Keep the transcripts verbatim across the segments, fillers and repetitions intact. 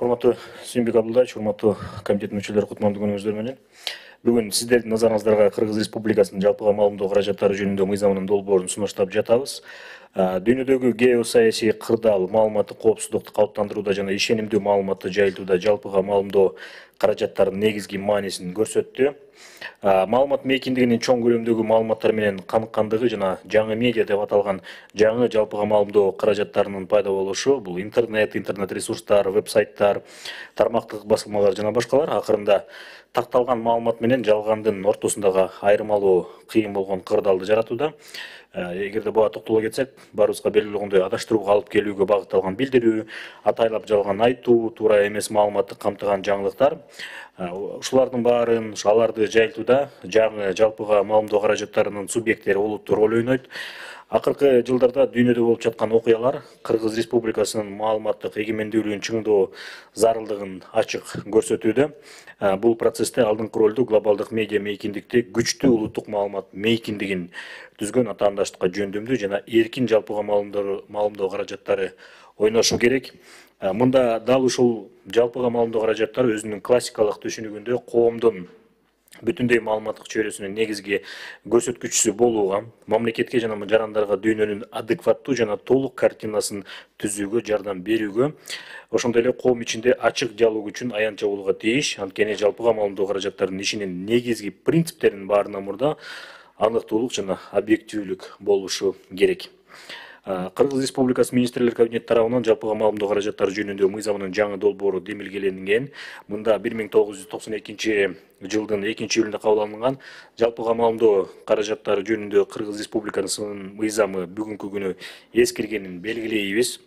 Урматтуу Сүйүнбек Абдулдаевич, урматтуу комитеттин мүчөлөрү, кутмандуу күнүңүздөр менен. Бүгүн сиздердин назарыңыздарга Кыргыз Республикасынын жалпыга маалымдоо каражаттары жөнүндө мыйзамынын долбоорун сунуштап жатабыз. Дүйнөдөгү геосаясий кырдаал маалыматтык коопсуздукту калыптандырууда жана ишенимдүү маалыматты жайылтууда жалпыга маалымдоо каражаттарынын негизги маанисин көрсөттү. Маалымат мейкиндигинин чоң көлөмдөгү маалыматтар менен каныккандыгы жана жаңы медиа деп аталган жаңы жалпыга маалымдоо каражаттарынын пайда болушу, бул интернет, интернет ресурстар, веб-сайттар, тармактык басылмалар жана башкалар акырында такталган маалымат менен жалгандын ортосундагы айырмалоо кыйын болгон кырдаалды жаратууда. Эгерде буга токтоло кетсек, баарыбызга белгилүү болгондой адаштырууга алып келүүгө багытталган билдирүү, атайлап жалган айтуу, туура эмес маалыматты камтыган жаңылыктар. Ушулардын баарын, аларды жайылтууда жаңы жалпыга маалымдоо каражаттарынын субъекттери олуттуу роль ойнойт. Акыркы жылдарда дүйнөдө болуп жаткан окуялар Кыргыз Республикасынын маалыматтык эгемендүүлүгүн чыңдоо зарылдыгын ачык көрсөтүүдө. Бул процессте алдыңкы ролду глобалдык медиа мейкиндикти күчтүү улуттук маалымат мейкиндигин түзгөн атаандаштыкка жөндөмдүү жана эркин жалпыга маалымдоо каражаттары ойношу керек. Мында дал ушул жалпыга маалымдоо каражаттары өзүнүн классикалык түшүнүгүндө коомдун бүтүндөй маалыматтык чөйрөсүнүн негизги көрсөткүчүсү болууга, мамлекетке жана жарандарга дүйнөнүн адекваттуу жана толук картинасын түзүүгө жардам берүүгө, ошондой эле коом ичинде ачык диалог үчүн аянтча болууга тийиш. Анткени жалпыга маалымдоо каражаттарынын ишинин негизги принциптеринин баарынан мурда аныктуулук жана объективдүүлүк болушу керек. Кыргыз Республикасы министрлер кабинети тарабынан жалпыга маалымдоо каражаттары жөнүндө мыйзамынын жаңы долбоору демилгеленген. Мында бир миң тогуз жүз токсон экинчи жылдын экинчи июлунда кабыл алынган жалпыга маалымдоо каражаттары жөнүндө Кыргыз Республикасынын мыйзамы бүгүнкү күнү эскиргенин белгилейбиз.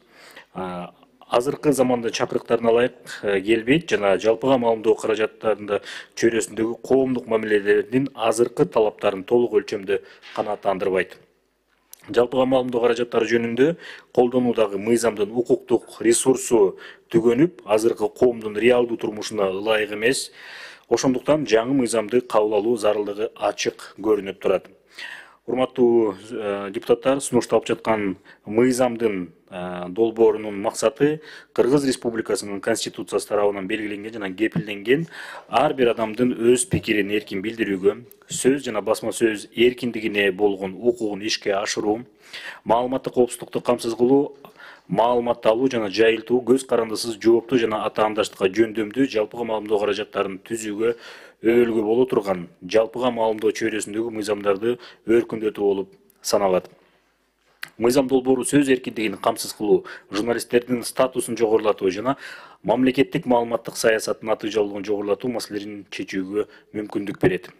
Азыркы замандын чакырыктарына ылайык келбейт жана жалпыга маалымдоо каражаттарында чөйрөсүндөгү коомдук мамилелердин азыркы талаптарын толук өлчөмдө канааттандырбайт. Жалпыга маалымдоо каражаттары жөнүндө колдонуудагы мыйзамдын укуктук ресурсу түгөнүп, азыркы коомдун реалдуу турмушуна ылайык эмес. Ошондуктан жаңы мыйзамды кабыл алуу зарылдыгы ачык көрүнүп турат. Урматтуу депутаттар, сунушталып жаткан мыйзамдын долбоорунун максаты Кыргыз Республикасынын Конституциясы тарабынан белгиленген жана кепилденген ар бир адамдын өз пикирин эркин билдирүүгө, сөз жана басма сөз эркиндигине болгон укугун ишке ашыруу, маалыматтык коопсуздукту камсыз кылуу, маалыматты алуу жана жайылтуу, көз карандысыз, жооптуу жана атаандаштыкка жөндөмдүү жалпыга маалымдоо каражаттарын түзүүгө өбөлгө боло турган жалпыга маалымдоо чөйрөсүндөгү мыйзамдарды өркүндөтүү болуп саналат. Мыйзам долбоору сөз эркиндигин камсыз кылуу, журналисттердин статусун жогорулатуу жана мамлекеттик маалыматтык саясаттын натыйжалуулугун жогорулатуу маселелерин чечүүгө мүмкүндүк берет.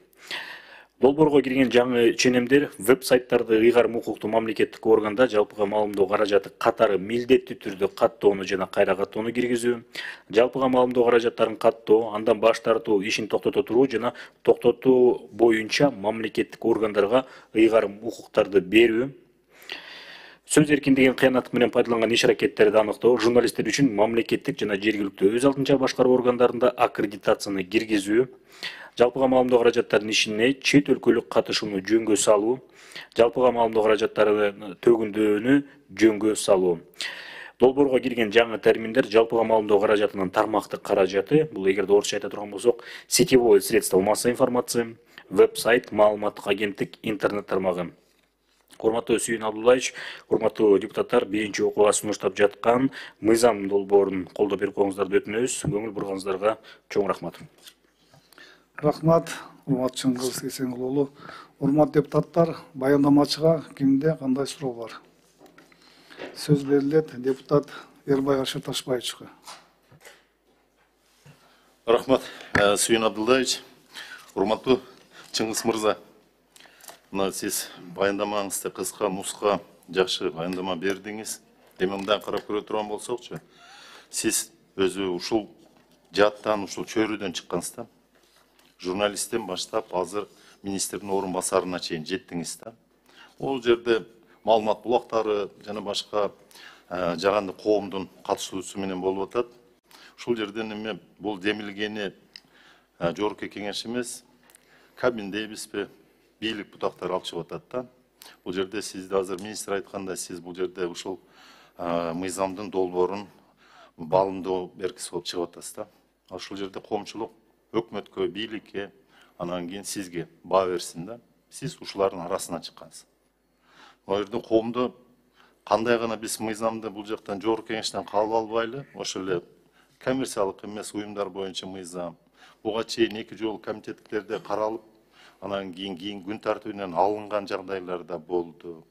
Долбоорго кирген жаңы ченемдер веб-сайттарды ыйгарым укуктуу мамлекеттик органда жалпыга маалымдоо каражаты катары милдеттүү түрдө каттоону жана кайра каттоону киргизүү, жалпыга маалымдоо каражаттарын каттоо, андан баш тартуу, ишин токтото туруу жана токтотуу боюнча мамлекеттик органдарга ыйгарым укуктарды берүү, сөз эркиндигин кыянаттык менен пайдаланган иш аракеттерди аныктоо, журналисттер үчүн мамлекеттик жана жергиликтүү өз алдынча башкаруу органдарында аккредитацияны киргизүү, жалпыга маалымдоо каражаттарынын ишине чет өлкөлүк катышууну жөнгө салуу, жалпыга маалымдоо каражаттарынын төгүндөнү жөнгө салуу. Долбоорго кирген жаңы терминдер жалпыга маалымдоо каражатынын тармактык каражаты, бул эгерде орусча айта турган болсок, сетевое средство массовой информации, веб-сайт, маалыматтык агенттик, интернет тармагы. Урматтуу Сүйүн Абдулдаевич, урматтуу депутаттар, биринчи окууга сунуштап жаткан мыйзам долбоорун колдоп берип коюңуздарды өтүнөбүз. Көңүл бурганыңыздарга чоң рахмат. Рахмат, урматтуу Чыңгыз Эсенгул уулу. Урматтуу депутаттар, баяндамачыга кимде кандай суроо бар? Сөз берилет депутат Эрбай Ашыр Ташбаевичке. Рахмат, Сүйүн Абдулдаевич. Урматтуу Чыңгыз мырза, мына сиз баяндамаңызды кыска, нуска, жакшы баяндама бердиңиз. Эми мындан карап көрө турган болсокчу, сиз өзү ушул жаттан, ушул чөйрөдөн чыккансыз да. Журналисттен баштап азыр министрдин орун басарына чейин жеттиңиз да. Ол жерде маалымат булактары жана башка жаганды коомдун катышуусу менен болуп атат. Ушул жерден эме бул демилгени жогорку кеңеш эмес, кабин дейбизби, бийлик бутактары алып чыгып атат да. Бул жерде сизди азыр министр айткандай, сиз бул жерде ушул мыйзамдын долбоорун баалымдоо эркиси болуп чыгып атасыз да. Ошол жерде коомчулук өкмөткө, бийликке, анан кийин сизге баа берсин да. Сиз ушулардын арасынан чыккансыз. Ал жерде коомдо кандай гана биз мыйзамды бул жактан жогорку кеңештен кабыл албайлы, ошол эле коммерциялык эмес уюмдар боюнча мыйзам буга чейин эки жолу комитеттерде каралып, анан кийин кийин күн тартибинен алынган жагдайлар да болду.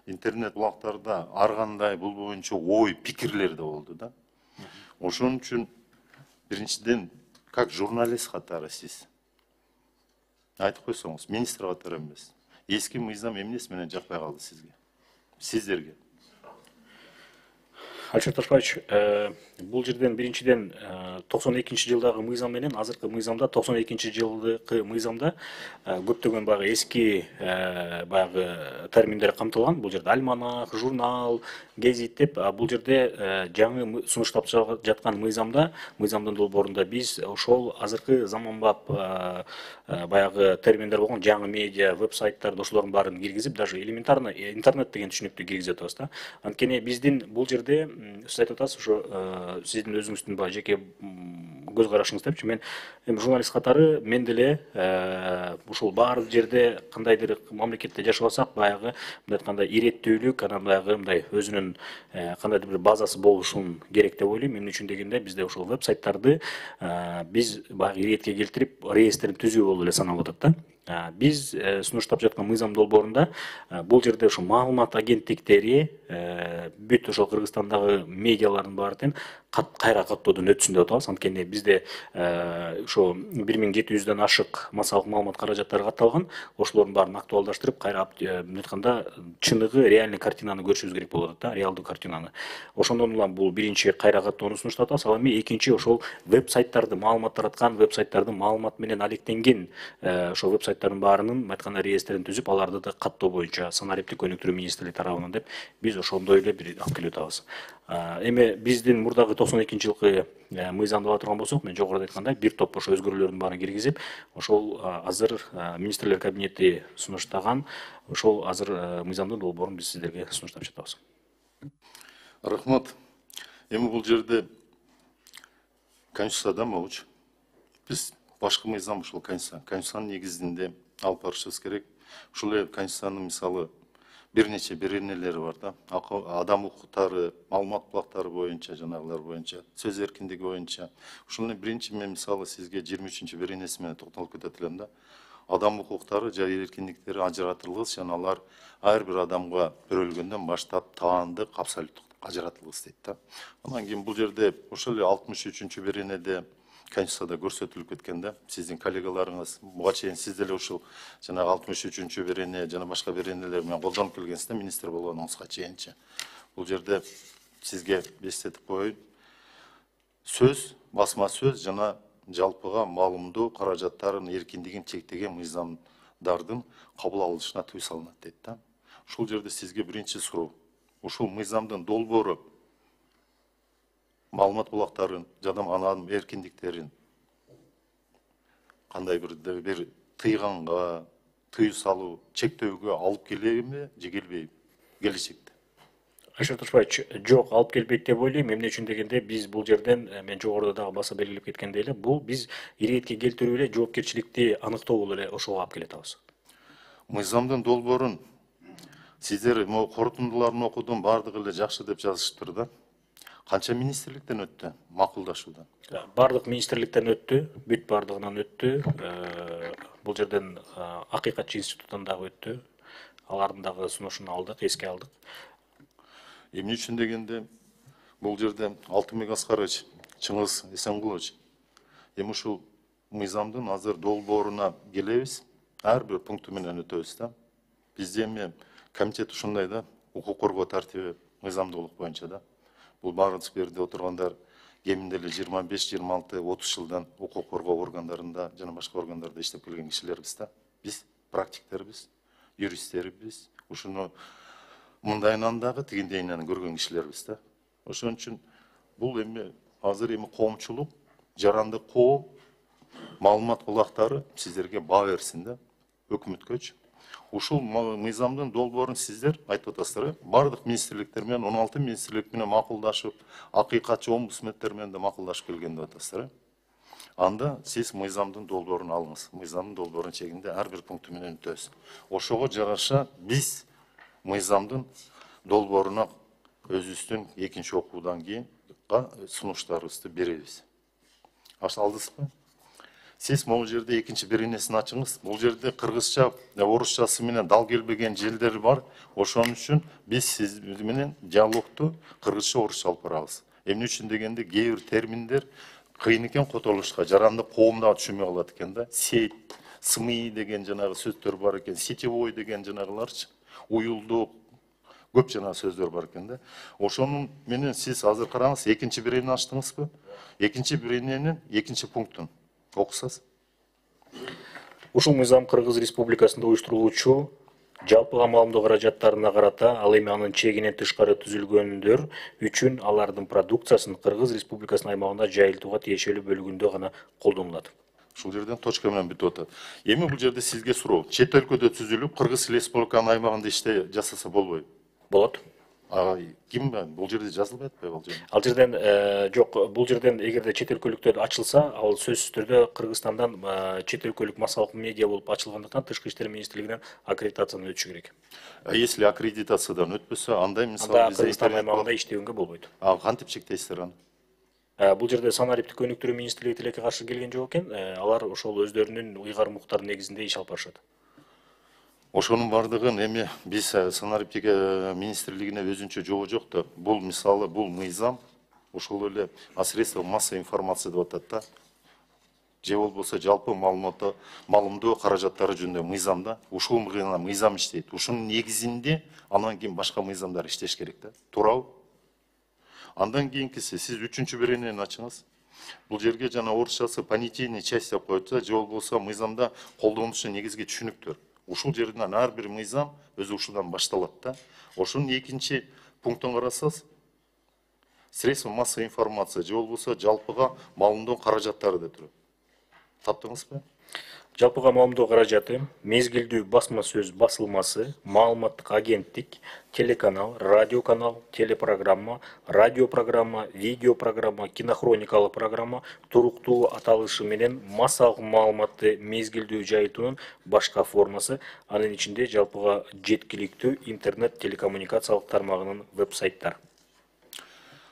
Интернет булактарда ар кандай бул боюнча ой, пикирлер да болду да. Ошон үчүн биринчиден, как журналист катары сиз айтып койсоңуз, министр катары эмес. Эски мыйзам эмнеси менен жакпай калды сизге? Сиздерге? Алишер Ташбаевич, бул жерден биринчиден токсон экинчи жылдагы мыйзам менен азыркы мыйзамда токсон экинчи жылдагы мыйзамда көптөгөн баягы эски баягы терминдер камтылган. Бул жерде альманах, журнал, гезит деп, бул жерде жаңы сунуштап жаткан мыйзамда, мыйзамдын долбоорунда биз ошол азыркы заманбап баягы терминдер болгон жаңы медиа, веб-сайттарды ошолордун баарын киргизип, даже элементарно интернет деген түшүнүктү киргизип атабыз да. Анткени биздин бул жерде сиз айтып атасыз, ошо сиздин өзүңүздүн баягы жеке көз карашыңыз депчи, мен эми журналист катары мен деле ушул баары жерде кандайдыр мамлекетте жашап атсак, баягы мындай айтканда иреттүүлүк, анан баягы мындай өзүнүн кандайдыр бир базасы болушун керек деп ойлойм. Эмне үчүн дегенде бизде ошол веб-сайттарды биз баягы иретке келтирип реестрин түзүү болуп эле саналып атат да. Биз сунуштап жаткан мыйзам долбоорунда бул жерде ошо маалымат агенттиктери бүт ошол Кыргызстандагы медиалардын баары тең кайра каттоодон өтсүн деп атабыз. Анткени бизде ошо бир миң жети жүздөн ашык массалык маалымат каражаттары катталган. Ошолордун баарын актуалдаштырып, кайра эмне айтканда чыныгы реальный картинаны көрүшүбүз керек болуп атат да, реалдуу картинаны. Ошондон улам бул биринчи кайра каттоону сунуштап атабыз. Ал эми экинчи ошол веб-сайттарды, маалымат тараткан веб-сайттардын маалымат менен алектенген ошол веб-сайттардын баарынын айтканда реестрин түзүп, аларды да каттоо боюнча санариптик өнүктүрүү министрлиги тарабынан деп биз ошондой эле бир алып келип атабыз. Эми биздин мурдагы токсон экинчи жылкы мыйзамды ала турган болсок, мен жогоруда айткандай бир топ ошо өзгөрүүлөрдүн баарын киргизип, ошол азыр министрлер кабинети сунуштаган ошол азыр мыйзамдын долбоорун биз сиздерге сунуштап жатабыз. Рахмат. Эми бул жерде конституцияда болчу. Биз башкы мыйзам ушул конституция. Конституциянын негизинде алып барышыбыз керек. Ушул эле конституциянын мисалы бир нече беренелери бар да. Адам укуктары, маалымат булактары боюнча, жанагылар боюнча, сөз эркиндиги боюнча. Ушул эле биринчи мен мисалы сизге жыйырма үчүнчү беренеси менен токтолуп кетет элем да. Адам укуктары жана эркиндиктери ажыратылгыс, жана алар ар бир адамга берилгөндөн баштап таандык, абсолюттук ажыратылгыс дейт да. Анан кийин бул жерде ошол эле алтымыш үчүнчү беренеде конституцияда көрсөтүлүп кеткен да. Сиздин коллегаларыңыз буга чейин сиз деле ушул жанагы алтымыш үчүнчү берене жана башка беренелер менен колдонуп келгенсиз да, министр болгонуңузга чейинчи. Бул жерде сизге эстетип коеюн. Сөз, басма сөз жана жалпыга маалымдоо каражаттарынын эркиндигин чектеген мыйзамдардын кабыл алынышына тыюу салынат дейт да. Ушул жерде сизге биринчи суроо. Ушул мыйзамдын долбоору маалымат булактарын жана анын эркиндиктерин кандай бир бир тыйганга, тыюу салуу, чектөөгө алып келеби же келбейби келечекте? Алишер Ташбаевич, жок, алып келбейт деп ойлойм. Эмне үчүн дегенде биз бул жерден мен жогоруда дагы баса белгилеп кеткендей эле, бул биз иретке келтирүү эле жоопкерчиликти аныктоо болуп эле ошого алып келет атабыз. Мыйзамдын долбоорун сиздер могу корутундуларын окудум, баардыгы эле жакшы деп жазышыптыр да. Канча министрликтен өттү макулдашуудан? Бардык министрликтен өттү, бүт бардыгынан өттү. Бул жерден Акыйкатчы институтунан дагы өттү. Алардын дагы сунушун алдык, эске алдык. Эмне үчүн дегенде бул жерде Алтынбек Аскарович, Чыңгыз Эсенгулович, эми ушул мыйзамдын азыр долбооруна келебиз, ар бир пункту менен өтөбүз да. Бизде эми комитет ушундай да, укук коргоо тартиби мыйзамдуулук боюнча да. Бул баарыбыз берде отургандар кеминде эле жыйырма беш, жыйырма алты, отуз жылдан укук коргоо органдарында жана башка органдарда иштеп келген кишилербиз да. Биз практиктербиз, юристтербиз, ушуну мындайынан дагы тигиндейинен көргөн кишилербиз да. Ошон үчүн бул эми азыр эми коомчулук, жаранды коом, маалымат булактары сиздерге баа берсин да, өкмөткөчү. Ушул мыйзамдын долбоорун сиздер айтып атасыздар, э? Бардык министрликтер менен он алты министрлик менен макулдашып, акыйкатчы омбудсмендтер менен да макулдашып келген деп атасыздар, э? Анда сиз мыйзамдын долбоорун алыңыз. Мыйзамдын долбоорунун чегинде ар бир пункту менен өтөбүз. Ошого жараша биз мыйзамдын долбооруна өзүбүздүн экинчи окуудан кийин сунуштарыбызды беребиз. Алдыңызбы? Сиз могу жерде экинчи беренесин ачыңыз. Бул жерде кыргызча, орусчасы менен дал келбеген жерлер бар. Ошон үчүн биз сиз менен диалогту кыргызча, орусча алып барабыз. Эмне үчүн дегенде кээ бир терминдер кыйын экен котолушка, жаранды коом да түшүнбөй калат экен да. Сеть, СМИ деген жанагы сөздөр бар экен, сетевой деген жанагыларчы, уюлдук, көп жана сөздөр бар экен да. Ошонун менен сиз азыр караңыз, экинчи беренени ачтыңызбы? Экинчи берененин экинчи пунктун окусаңыз. Ушул мыйзам Кыргыз Республикасында уюштурулуучу жалпыга маалымдоо каражаттарына карата, ал эми анын чегинен тышкары түзүлгөндөр үчүн алардын продукциясын Кыргыз Республикасынын аймагында жайылтууга тиешелүү бөлүгүндө гана колдонулат. Ушул жерден точка менен бүтүп атат. Эми бул жерде сизге суроо. Чет өлкөдө түзүлүп, Кыргыз Республиканын аймагында иште жасаса болбойбу? Болот. А ким бул жерде жазылбай атпайбы ал жерде? Ал жерден жок, бул жерден эгерде чет өлкөлүктөр ачылса, ал сөзсүз түрдө Кыргызстандан чет өлкөлүк массалык медиа болуп ачылгандыктан Тышкы иштер министрлигинен аккредитациядан өтүшү керек. А если аккредитациядан өтпөсө, андай мисалы анда Кыргызстан аймагында иштегенге болбойт. А кантип чектейсиздер аны? Бул жерде санариптик өнүктүрүү министрлиги тилекке каршы келген жок экен. Алар ошол өздөрүнүн уйгар укуктары негизинде иш алып барышат. Ошонун бардыгын эми биз санариптик министрлигине өзүнчө жобо жок да. Бул мисалы, бул мыйзам ошол эле средства массовой информация деп атат да. Же болбосо жалпы маалымат маалымдоо каражаттары жөнүндө мыйзамда ушул мыйзам иштейт. Ушунун негизинде анан кийин башка мыйзамдар иштеш керек да. Туурабы? Андан кийинкиси сиз үчүнчү беренени ачыңыз. Бул жерге жана орусчасы понятийный часть деп коет, же болбосо мыйзамда колдонушу негизги түшүнүктөр. Ушул жерден ар бир мыйзам өзү ушудан башталат да. Ошонун экинчи пунктун карасаңыз, средства массовой информация же болбосо жалпыга маалымдоо каражаттары деп турат. Таптыңызбы? Жалпыга маалымдоо каражаты, мезгилдүү басма сөз басылмасы, маалыматтык агенттик, телеканал, радиоканал, телепрограмма, радиопрограмма, видеопрограмма, кинохроникалык программа, туруктуу аталышы менен массалык маалыматты мезгилдүү жайылтуунун башка формасы, анын ичинде жалпыга жеткиликтүү интернет телекоммуникациялык тармагынын веб-сайттар.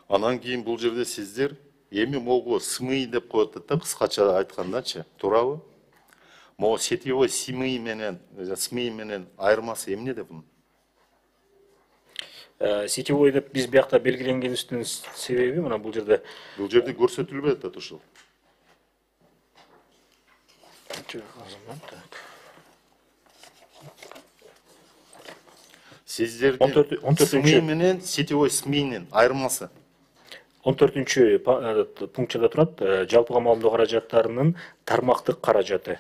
Анан кийин бул жерде сиздер эми могу СМИ деп коет да, кыскача айткандачы, туурабы? Могу сетевой СМИ менен, СМИ менен айырмасы эмне деп бунун? Сетевой деп биз биякта белгиленгенибиздин себеби мына бул жерде бул жерде көрсөтүлбөй атат ушул. Сиздердин СМИ менен сетевой СМИнин айырмасы. он төртүнчү пунктчада турат, жалпыга маалымдоо каражаттарынын тармактык каражаты.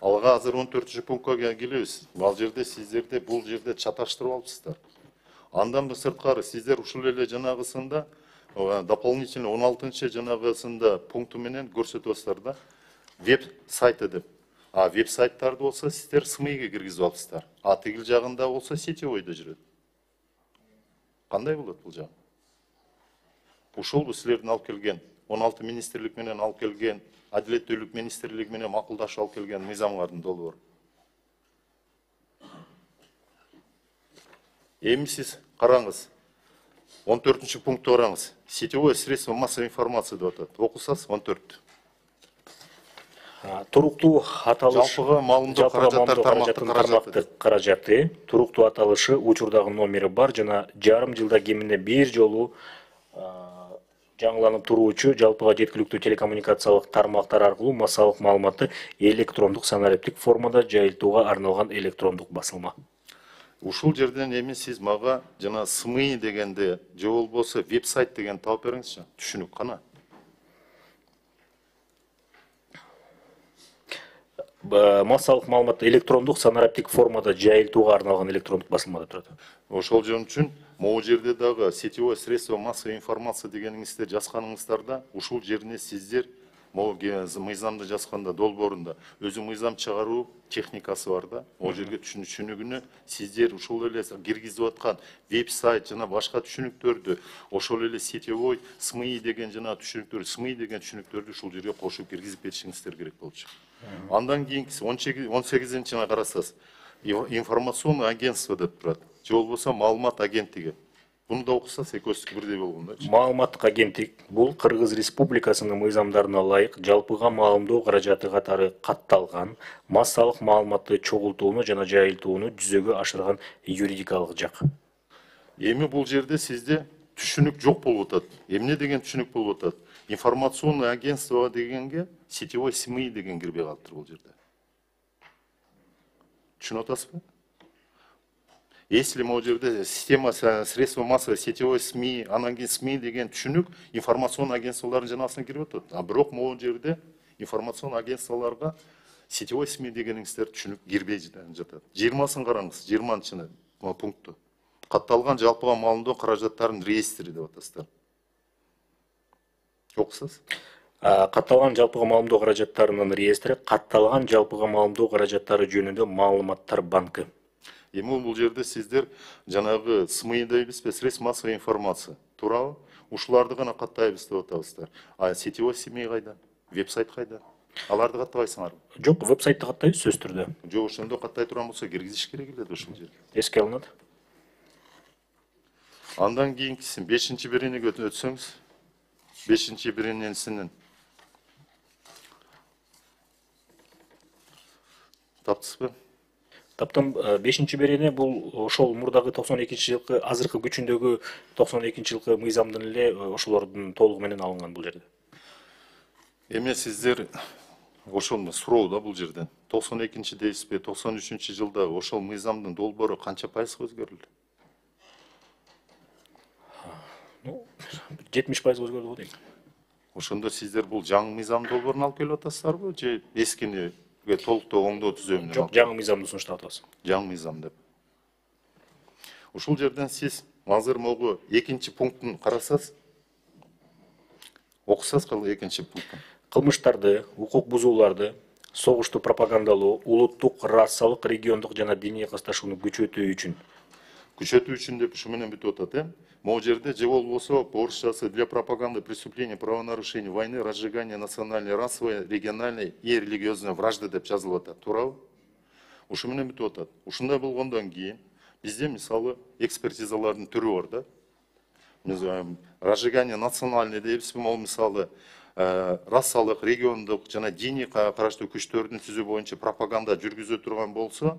Алга азыр он төртүнчү пунктка келебиз. Ал жерде сиздерде бул жерде чаташтырып алыпсыздар. Андан да сырткары сиздер ушул эле жанагысында дополнительно он алтынчы жанагысында пункту менен көрсөтөсүздөр да. Веб сайты деп. А веб сайттарды болсо сиздер СМИге киргизип алыпсыздар. А тигил жагында болсо сетевойдо жүрөт. Кандай болот бул жагы? Ушул бу силердин алып келген он алты министрлик менен алып келген, Адилеттүүлүк министрлиги менен макулдашып алып келген мыйзамдардын долбоору. Эми сиз караңыз. он төртүнчү пункту караңыз. Сетевое средство массовой информации деп атат. Окусаңыз он төрт. Туруктуу аталыш жалпыга маалымдоо каражаттары тармактык каражаты, туруктуу аталышы, учурдагы номери бар жана жарым жылда кеминде бир жолу жаңыланып туруучу жалпыга жеткиликтүү телекоммуникациялык тармактар аркылуу массалык маалыматты электрондук санариптик формада жайылтууга арналган электрондук басылма. Ушул жерден эми сиз мага жана СМИ дегенде же болбосо веб-сайт деген таап бериңизчи. Түшүнүк кана. Массалык маалыматты электрондук санариптик формада жайылтууга арналган электрондук басылмада турат. Ошол жөн үчүн могу жерде дагы сетевое средство массовой информация дегениңизде жазганыңыздарда ушул жерине сиздер могу мыйзамды жазганда долбоорунда өзү мыйзам чыгаруу техникасы бар да. Ол жерге түшүнүгүнө сиздер ушул эле киргизип аткан веб-сайт жана башка түшүнүктөрдү, ошол эле сетевой СМИ деген жана түшүнүктөр, СМИ деген түшүнүктөрдү ушул жерге кошуп киргизип беришиңиздер керек болчу. Андан кийинкиси он сегизинчине карасаңыз, информационный агентство деп турат. Же болбосо маалымат агенттиги. Буну да окусаңыз экөөсү бирдей болгондойчу. Маалыматтык агенттик бул Кыргыз Республикасынын мыйзамдарына ылайык жалпыга маалымдоо каражаты катары катталган массалык маалыматты чогултууну жана жайылтууну жүзөгө ашырган юридикалык жак. Эми бул жерде сизде түшүнүк жок болуп атат. Эмне деген түшүнүк болуп атат? Информационный агентство дегенге сетевой СМИ деген кирбей калыптыр бул жерде. Түшүнүп атасызбы? Если могу жерде система средства массовой сетевой СМИ, анан кийин СМИ деген түшүнүк информационный агентстволордун жанасына кирип атат. А бирок могу жерде информационный агентстволорго сетевой СМИ дегениңиздер түшүнүк кирбей жатат. жыйырмасын караңыз, жыйырманчы пункту. Катталган жалпыга маалымдоо каражаттарынын реестри деп атасыздар. Окусаңыз. Катталган жалпыга маалымдоо каражаттарынын реестри катталган жалпыга маалымдоо каражаттары жөнүндө маалыматтар банкы. Эми бул жерде сиздер жанагы СМИ дейбизби, средства массовой информация туурабы? Ушуларды гана каттайбыз деп атабыздар. А сетевой СМИ кайда? Веб-сайт кайда? Аларды каттабайсыңарбы? Жок, веб-сайтты каттайбыз сөзсүз түрдө. Жок, ошондо каттай турган болсо киргизиш керек эле ушул жерге. Эске алынат. Андан кийинкиси бешинчи беренеге өтсөңүз, бешинчи беренесинин таптыңызбы? Таптым. Бешинчи берене бул ошол мурдагы токсон экинчи жылкы азыркы күчүндөгү токсон экинчи жылкы мыйзамдын эле ошолордун толугу менен алынган бул жерде. Эми сиздер ошол суроо да бул жерден. токсон экинчи дейсизби, токсон үчүнчү жылда ошол мыйзамдын долбоору канча пайызга өзгөрүлдү? Ну, жетимиш пайыз өзгөрдү го дейм. Ошондо сиздер бул жаңы мыйзам долбоорун алып келип атасыздарбы, же эскини толуктоо оңдоо түзөө менен? Жок, жаңы мыйзамды сунуштап атабыз. Жаңы мыйзам деп. Ушул жерден сиз азыр могу экинчи пунктун карасаңыз, окусаңыз кыл экинчи пунктун. Кылмыштарды, укук бузууларды, согушту пропагандалоо, улуттук, расалык, региондук жана диний касташууну күчөтүү үчүн. Күчөтүү үчүн деп ушу менен бүтүп атат, э? Могу жерде же болбосо орусчасы для пропаганды преступления, правонарушений, войны, разжигания национальной, расовой, региональной и религиозной вражды деп жазылып атат, туурабы? Ушу менен бүтүп атат. Ушундай болгондон кийин бизде мисалы экспертизалардын түрү бар да. Разжигание национальный дейбизби, могу мисалы расалык, региондук жана диний караштуу күчтөрдүн түзүү боюнча пропаганда жүргүзө турган болсо,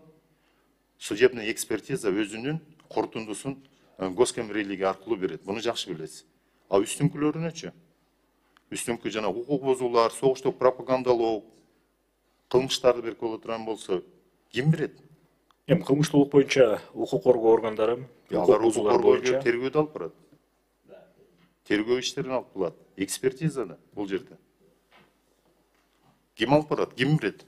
судебный экспертиза өзүнүн корутундусун госкомрелигия аркылуу берет. Буну жакшы билесиз. А үстүнкүлөрүнөчү? Үстүнкү жана укук бузуулар, согуштук пропагандалоо, кылмыштарды берип боло турган болсо, ким берет? Эми кылмыштуулук боюнча укук коргоо органдары, укук бузуулар боюнча тергөөдө алып барат. Тергөө иштерин алып кылат. Экспертизада бул жерде. Ким алып барат? Ким берет?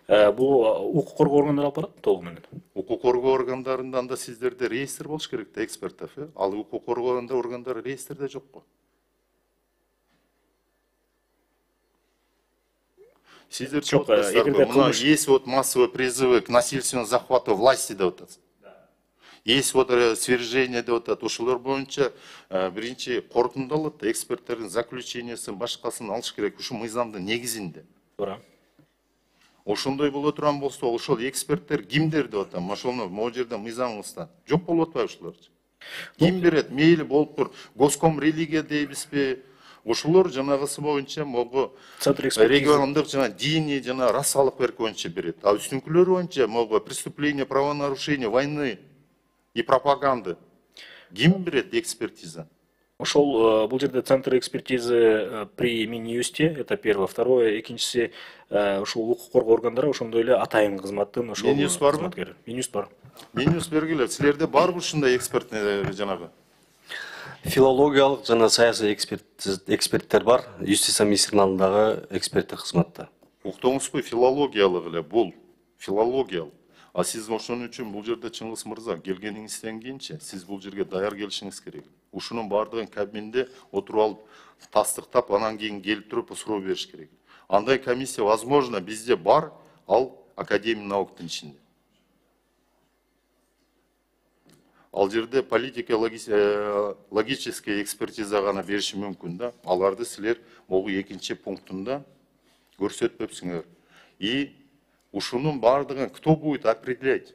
Бул укук коргоо органдары алып барат толугу менен. Укук коргоо органдарында да сиздерде реестр болуш керек да, эксперттер, э? Ал укук коргоо органдары реестрде жок го. Сиздер жок, мына есть вот массовые призывы к насильственному захвату власти деп атат. Есть вот свержение деп атат. Ошолор боюнча биринчи корутундалат да, эксперттердин заключениясын, башкасын алыш керек ушу мыйзамдын негизинде. Туура. Ошондой боло турган болсо, ошол эксперттер кимдер деп атам? Ошону могу жерде мыйзамыбызда жок болуп атпайбы ушуларчы? Ким берет? Мейли болуп тур. Госком религия дейбизби? Ошолор жанагысы боюнча могу региондук жана диний жана расалык берки боюнча берет. А үстүнкүлөр боюнча могу преступление, правонарушение, войны и пропаганды. Ким берет экспертиза? Ошол бул жерде центр экспертизы при Минюсте, это первое. Второе, экинчиси ушул укук коргоо органдары ошондой эле атайын кызматтын ошол Минюс барбы? Минюс бар. Минюс бергиле. Силерде барбы ушундай экспертный жанагы? Филологиялык жана саясий эксперттер бар. Юстиция министринин алдындагы эксперттик кызматта. Уктуңузбу, филологиялык эле бул. Филологиялык. А сиз ошон үчүн бул жерде Чыңгыз мырза келгениңизден кийинчи сиз бул жерге даяр келишиңиз керек. ушунун баардыгын кабинде отуруп алып тастыктап, анан кийин келип туруп суроо бериш керек. Андай комиссия возможно бизде бар, ал Академия науктун ичинде. Ал жерде политика логическая экспертиза гана бериши мүмкүн да. Аларды силер могу экинчи пунктунда көрсөтпөпсүңөр. И ушунун баардыгын кто будет определять?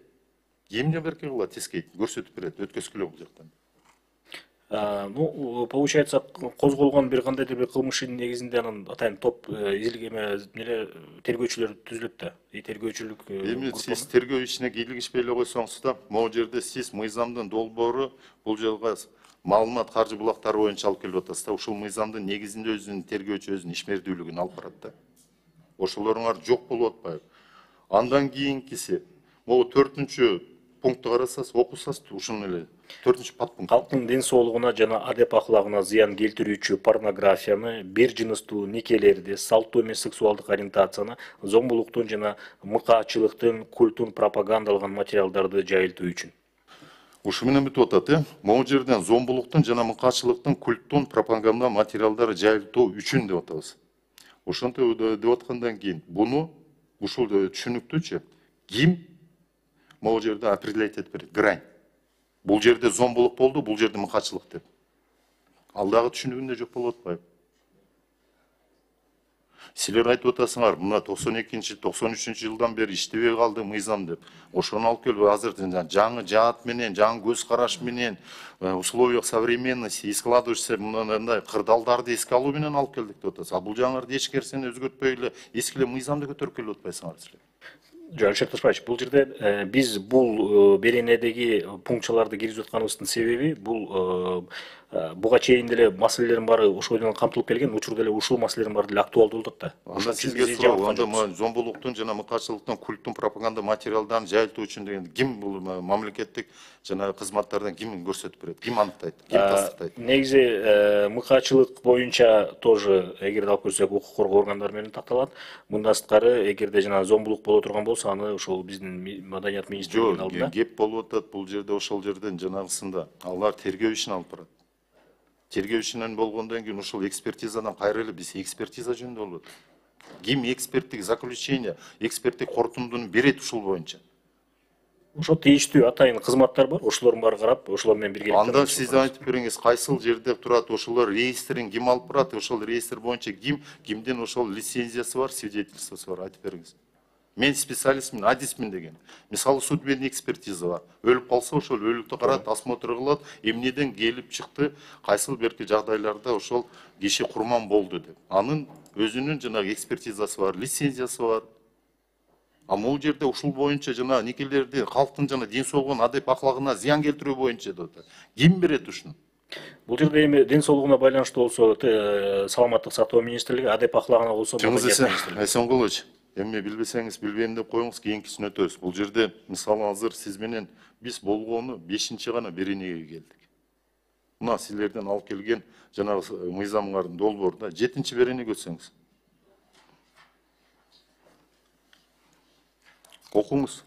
Кимде берке кылат тескейт, көрсөтүп берет, өткөзгүлө бул жактан. Ну, получается, козголгон бир кандайдыр бир кылмыштын негизинде анан атайын топ изилгеме эле тергөөчүлөр түзүлөт да. И тергөөчүлүк Эми сиз тергөө ишине кийлигишпей эле койсоңуз да, могу жерде сиз мыйзамдын долбоору бул жерге маалымат каржы булактары боюнча алып келип атасыз да. Ушул мыйзамдын негизинде өзүнүн тергөөчү өзүнүн ишмердүүлүгүн алып барат да. Ошолоруңар жок болуп атпайбы? Андан кийинкиси могу төртүнчү пунктты карасаңыз, окусаңыз ушуну эле төртүнчү подпункт. Калктын ден соолугуна жана адеп аклагына зыян келтирүүчү порнографияны, бир жыныстуу никелерди, салттуу эмес сексуалдык ориентацияны, зомбулуктун жана мыкаачылыктын культун пропагандалган материалдарды жайылтуу үчүн. Ушу менен бүтүп атат, э? Могу жерден зомбулуктун жана мыкаачылыктын культтун пропаганда материалдары жайылтуу үчүн деп атабыз. Ошентип деп аткандан кийин буну ушул түшүнүктүүчү ким могу жерде определять этип берет, грань. Бул жерде зомбулук болду, бул жерде мыкаачылык деп. Ал дагы түшүнүгүндө жок болуп атпайбы? Силер айтып атасыңар, мына токсон экинчи, токсон үчүнчү жылдан бери иштебей калды мыйзам деп. Ошону алып келип азыр жаңы жаат менен, жаңы көз караш менен, условиях современности, и складывающийся мындай кырдаалдарды эске алуу менен алып келдик деп атасыз. А бул жаңыларды эч нерсени өзгөртпөй эле эски эле мыйзамды көтөрүп келип атпайсыңар силер. Жок, Алишер Ташбаевич, бул жерде биз бул беренедеги пунктчаларды киргизип атканыбыздын себеби бул буга чейин деле маселелердин баары ошол менен камтылып келген, учурда эле ушул маселелердин баары деле актуалдуу болуп атат да. Анда сизге суроо, анда зомбулуктун жана мыкаачылыктын культтун пропаганда материалдарын жайылтуу үчүн деген ким бул мамлекеттик жана кызматтардан ким көрсөтүп берет, ким аныктайт, ким тастыктайт? Негизи мыкаачылык боюнча тоже эгерде алып көрсөк укук коргоо органдары менен такталат. Мындан сырткары эгерде жана зомбулук боло турган болсо, аны ошол биздин маданият министрлигинин алдында. Жок, кеп болуп атат бул жерде ошол жерден жанагысында. Алар тергөө ишин алып барат. Тергөө ишинен болгондон кийин ушул экспертизадан кайра эле биз экспертиза жөнүндө болот. Ким эксперттик заключение, эксперттик корутундуну берет ушул боюнча? Ошо тийиштүү атайын кызматтар бар, ошолордун баары карап, ошолор менен бирге. Анда сиз айтып бериңиз, кайсыл жерде турат, ошолор реестрин ким алып барат, ошол реестр боюнча ким, кимдин ошол лицензиясы бар, свидетельствосы бар, айтып бериңиз. Мен специалистмин, адисмин деген. Мисалы судебный экспертиза бар. Өлүп калса ошол өлүктү карат, осмотр кылат, эмнеден келип чыкты, кайсыл берки жагдайларда ошол киши курман болду деп. Анын өзүнүн жанагы экспертизасы бар, лицензиясы бар. А могу жерде ушул боюнча жана никелерди калктын жана ден соолугуна, адеп аклагына зыян келтирүү боюнча деп атат. Ким берет ушуну? Бул жерде эми ден соолугуна байланыштуу болсо, саламаттык сактоо министрлиги, адеп аклагына болсо, Эсенгулович, эми билбесеңиз билбейм деп коюңуз, кийинкисин өтөбүз. Бул жерде мисалы азыр сиз менен биз болгону бешинчи гана беренеге келдик. Мына силерден алып келген жанагы мыйзамдардын долбоорунда жетинчи беренеге өтсөңүз. Окуңуз.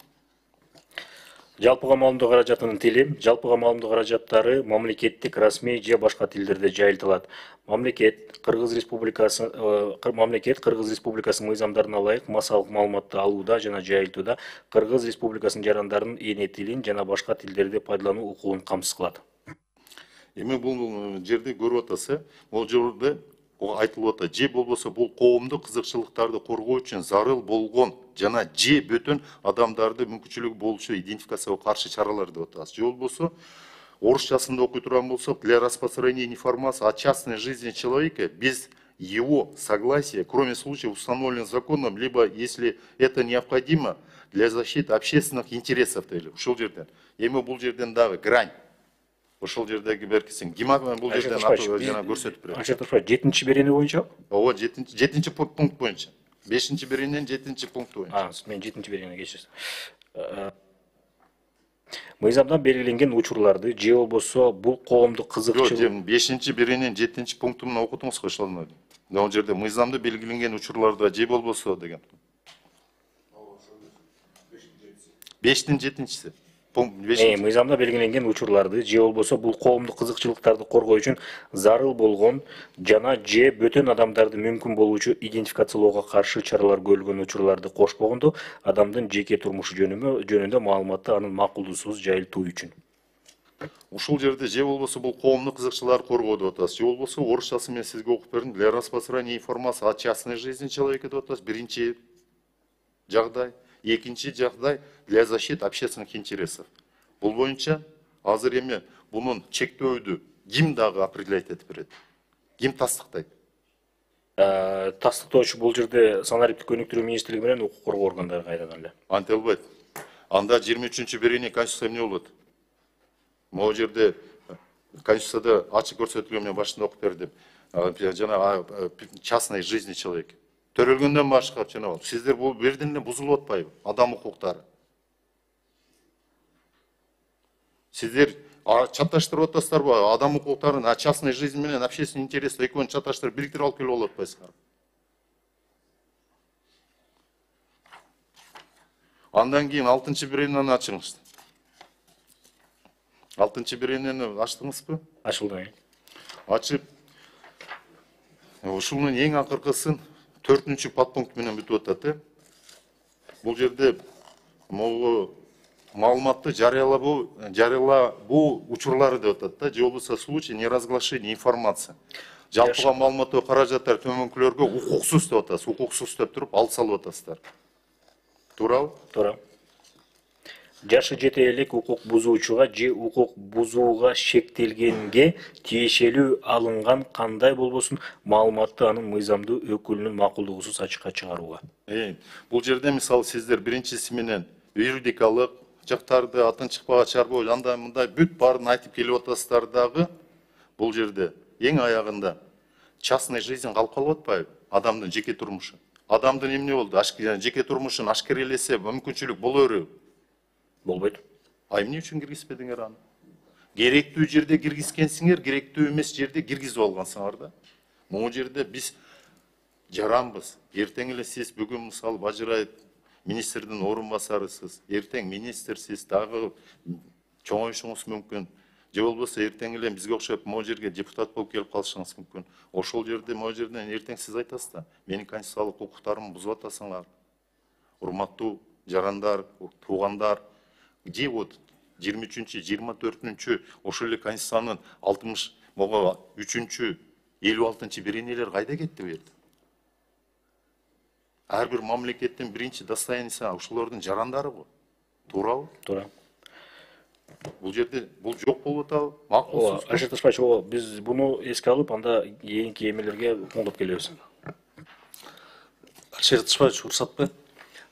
Жалпыга маалымдоо каражатынын тили, жалпыга маалымдоо каражаттары мамлекеттик, расмий же башка тилдерде жайылтылат. Мамлекет Кыргыз Республикасы мамлекет Кыргыз Республикасынын мыйзамдарына ылайык массалык маалыматты алууда жана жайылтууда Кыргыз Республикасынын жарандарынын эне тилин жана башка тилдерди пайдалануу укугун камсыз кылат. Эми бул жерде көрүп атасыз, бул жерде айтылып атат, же болбосо бул коомдук кызыкчылыктарды коргоо үчүн зарыл болгон жана же бөтөн адамдарды мүмкүнчүлүгү болушу идентификацияга каршы чаралар деп атабыз. Же болбосо орусчасында окуй турган болсок, для распространения информации о частной жизни человека без его согласия, кроме случаев установленных законом, либо если это необходимо для защиты общественных интересов дейли. Ушул жерден. Эми бул жерден дагы грань. Ошол жердеги беркисин кимак бул жерден жана көрсөтүп берет. Алишер Ташбаевич, жетинчи берене боюнча? Ооба, жетинчи пункт боюнча. бешинчи берененин жетинчи пункту боюнча. А, мен жетинчи беренеге кечирсиз. Мыйзамдан белгиленген учурларды же болбосо бул коомдук кызыкчылык. Жок, бешинчи берененин жетинчи пунктун менен окутуңуз го ошону. Могу жерде мыйзамда белгиленген учурларда же болбосо деген. бештин жетинчиси. Э, мыйзамда белгиленген учурларды же болбосо бул коомдук кызыкчылыктарды коргоо үчүн зарыл болгон жана же бөтөн адамдарды мүмкүн болуучу идентификациялоого каршы чаралар көрүлгөн учурларды кошпогондо адамдын жеке турмушу жөнүндө маалыматты анын макулдугусуз жайылтуу үчүн. Ушул жерде же болбосо бул коомдук кызыкчыларды коргоо деп атасыз, же болбосо орусчасы мен сизге окуп бердим. Для распространения информации о частной жизни человека деп атасыз. Биринчи жагдай, экинчи жагдай для защиты общественных интересов. Бул боюнча азыр эми бунун чектөөдү ким дагы определять этип берет? Ким тастыктайт? Тастыктоочу бул жерде санариптик өнүктүрүү министрлиги менен укук коргоо органдары кайрадан эле. Антип албайт. Анда жыйырма үчүнчү берение Конституция эмне болот? Могу жерде Конституцияда ачык көрсөтүлгөн, мен башында окуп бердим. Жана частной жизни человека. Төрөлгөндөн башка жана сиздер бул берден эле бузулуп атпайбы? Адам укуктары. Сиздер чаташтырып атасыздарбы? Адам укуктарын, а частной жизнь менен общественный интерес экөөнү чаташтырып бириктирип алып келип болуп атпайсыздарбы? Андан кийин алтынчы беренияны ачыңыз. Алтынчы беренияны ачтыңызбы? Ачылды. Ачып, ушунун эң акыркысын төртүнчү подпункт менен бүтүп атат. Бул жерде могу маалыматты жарыялабоо, жарыялабоо учурлары деп атат да, же болбосо случай неразглашения информации. Жалпыга маалыматтоо каражаттар төмөнкүлөргө укуксуз деп атасыз, укуксуз деп туруп ал салып атасыздар. Туурабы? Туура. Жашы жете элек укук бузуучуга же укук бузууга шектелгенге тиешелүү алынган кандай болбосун маалыматты анын мыйзамдуу өкүлүнүн макулдугусуз ачыкка чыгарууга. Э, бул жерде мисалы сиздер биринчиси менен юридикалык жактарды атын чыкпага чыгарбоо, андай мындай бүт баарын айтып келип атасыздар дагы, бул жерде эң аягында частный жизнь калып калып атпайбы? Адамдын жеке турмушу. Адамдын эмне болду? Жеке турмушун ашкерелесе мүмкүнчүлүк боло береби? Болбойт. А эмне үчүн киргизбедиңер аны? Керектүү жерде киргизгенсиңер, керектүү эмес жерде киргизип алгансыңар да. Могу жерде биз жаранбыз. Эртең эле сиз бүгүн мисалы Бажырайып министрдин орун басарысыз, эртең министрсиз, дагы чоңоюшуңуз мүмкүн. Же болбосо эртең эле бизге окшоп могу жерге депутат болуп келип калышыңыз мүмкүн. Ошол жерде могу жерден эртең сиз айтасыз да, менин конституциялык укуктарымды бузуп атасыңар. Урматтуу жарандар, туугандар, где вот жыйырма үчүнчү, жыйырма төртүнчү ошол эле конституциянын алтымыш үчүнчү, элүү алтынчы беренелер кайда кетти бу жерде? Ар бир мамлекеттин биринчи достояниясы ошолордун жарандары го. Туурабы? Туура. Бул жерде бул жок болуп атабы? Макулсуз. Алишер Ташбаевич, биз буну эске алып, анда кийинки эмелерге коңдоп келебиз. Алишер Ташбаевич, уруксатпы?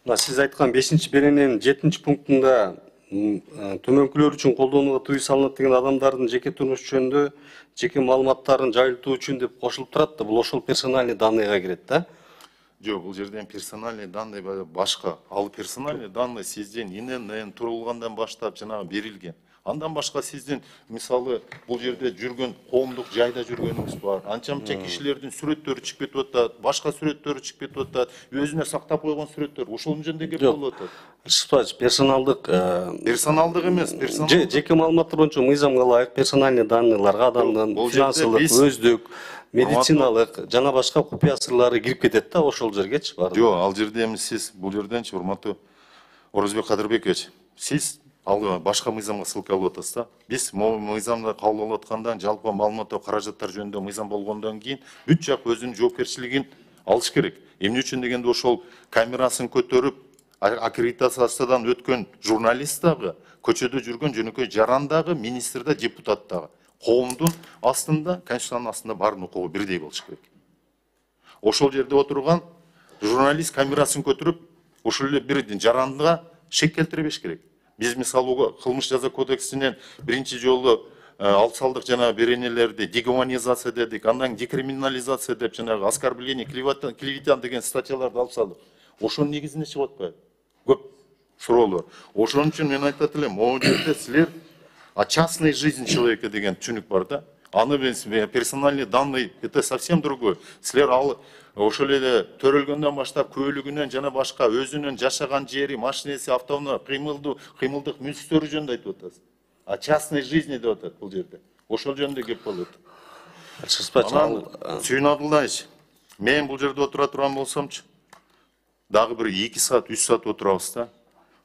Мына сиз айткан бешинчи берененин жетинчи пунктунда төмөнкүлөр үчүн колдонууга тыюу салынат деген адамдардын жеке турмушу жөнүндө жеке маалыматтарын жайылтуу үчүн деп кошулуп турат да, бул ошол персональный данныйга кирет да. Жок, бул жерден персональный данный башка. Ал персональный данный сизден ИНН турулгандан баштап жанагы берилген. Андан башка сиздин мисалы бул жерде жүргөн коомдук жайда жүргөнүңүз бар. Анча мынча кишилердин сүрөттөрү чыгып кетип атат, башка сүрөттөрү чыгып кетип атат, өзүнө сактап койгон сүрөттөр. Ошол жөнүндө кеп болуп атат. Алишер, персоналдык персоналдык эмес, персоналдык. Жеке маалыматтар боюнча мыйзамга ылайык персональный данныйларга адамдын финансылык, өздүк, медициналык жана башка купуя сырлары кирип кетет да ошол жергечи бар. Жок, ал жерде эми сиз бул жерденчи урматтуу Орозбек Кадырбекович, сиз ал башка мыйзамга ссылка алып атасыз да. Биз мыйзамды кабыл алып аткандан жалпы маалыматтоо каражаттар жөнүндө мыйзам болгондон кийин бүт жак өзүнүн жоопкерчилигин алыш керек. Эмне үчүн дегенде ошол камерасын көтөрүп аккредитациядан өткөн журналист дагы, көчөдө жүргөн жөнөкөй жаран дагы, министр да, депутат дагы коомдун астында, конституциянын астында баардын укугу бирдей болуш керек. Ошол жерде отурган журналист камерасын көтөрүп, ошол эле бир жаранга шек келтире беш керек. Биз мисалы кылмыш жаза кодексинен биринчи жолу алып салдык жана беренелерди дегуманизация дедик, андан декриминализация деп жанагы оскорбление, клевета деген статьяларды алып салдык. Ошонун негизинде чыгып атпайбы? Көп суроолор. Ошон үчүн мен айтат элем, могу жерде силер а частная жизнь человека деген түшүнүк бар да. аны мен персональный данный это совсем другой. Силер ал ошол эле төрөлгөндөн баштап көйлүгүнөн жана башка өзүнүн жашаган жери, машинеси, автоунаа, кыймылдуу, кыймылдык мүлктөрү жөнүндө айтып атасыз. А частной жизни деп атат бул жерде. Ошол жөнүндө кеп болот. Анан Сүйүн Абдулдаевич, мен бул жерде отура турган болсомчу, дагы бир эки саат, үч саат отурабыз да.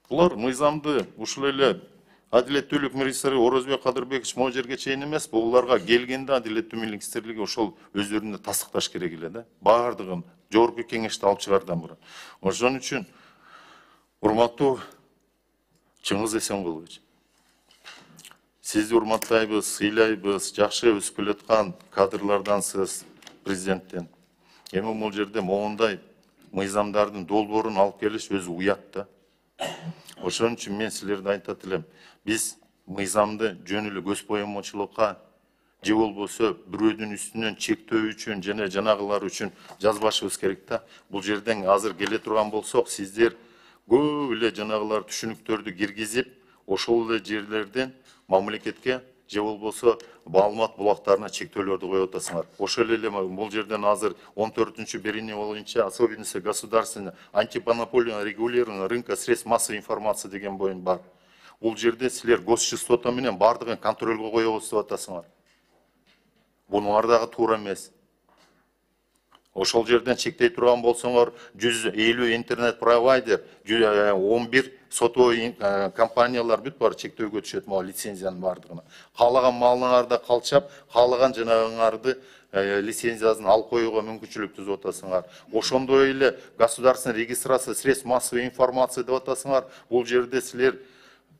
Булар мыйзамды ушул эле Адилеттүүлүк министри Орозбек Кадырбекович могу жерге чейин эмес, буларга келгенде Адилеттүү министрлиги ошол өздөрүнө тастыкташ керек эле да. Бардыгын жогорку кеңеште алып чыгардан мурун. Ошон үчүн урматтуу Чыңгыз Эсенкулович, сизди урматтайбыз, сыйлайбыз, жакшы өсүп келаткан кадрлардансыз президенттен. Эми бул жерде моундай мыйзамдардын долбоорун алып келиш өзү уят да. Ошон үчүн мен силерге айтат элем, биз мыйзамды жөн эле көз боомочулукка же болбосо бирөөдүн үстүнөн чектөө үчүн жана жанагылар үчүн жазбашыбыз керек да. Бул жерден азыр келе турган болсок, сиздер көп эле жанагылар түшүнүктөрдү киргизип, ошол эле жерлерден мамлекетке же болбосо маалымат булактарына чектөөлөрдү коюп атасыңар. Ошол эле бул жерден азыр он төртүнчү берение боюнча особенности государственного антимонопольного регулирования рынка средств массовой информации деген боюн бар. Бул жерде силер госчастота менен бардыгын контролго коебуз деп атасыңар. Бунуңар дагы туура эмес. Ошол жерден чектей турган болсоңор, жүз элүү интернет провайдер, он бир сотовый компаниялар бүт бар чектөөгө түшөт могу лицензиянын бардыгына. Каалаган малыңарды калчап, каалаган жанагыңарды лицензиясын алып коюуга мүмкүнчүлүк түзүп атасыңар. Ошондой эле государственная регистрация средств массовой информации деп атасыңар. Бул жерде силер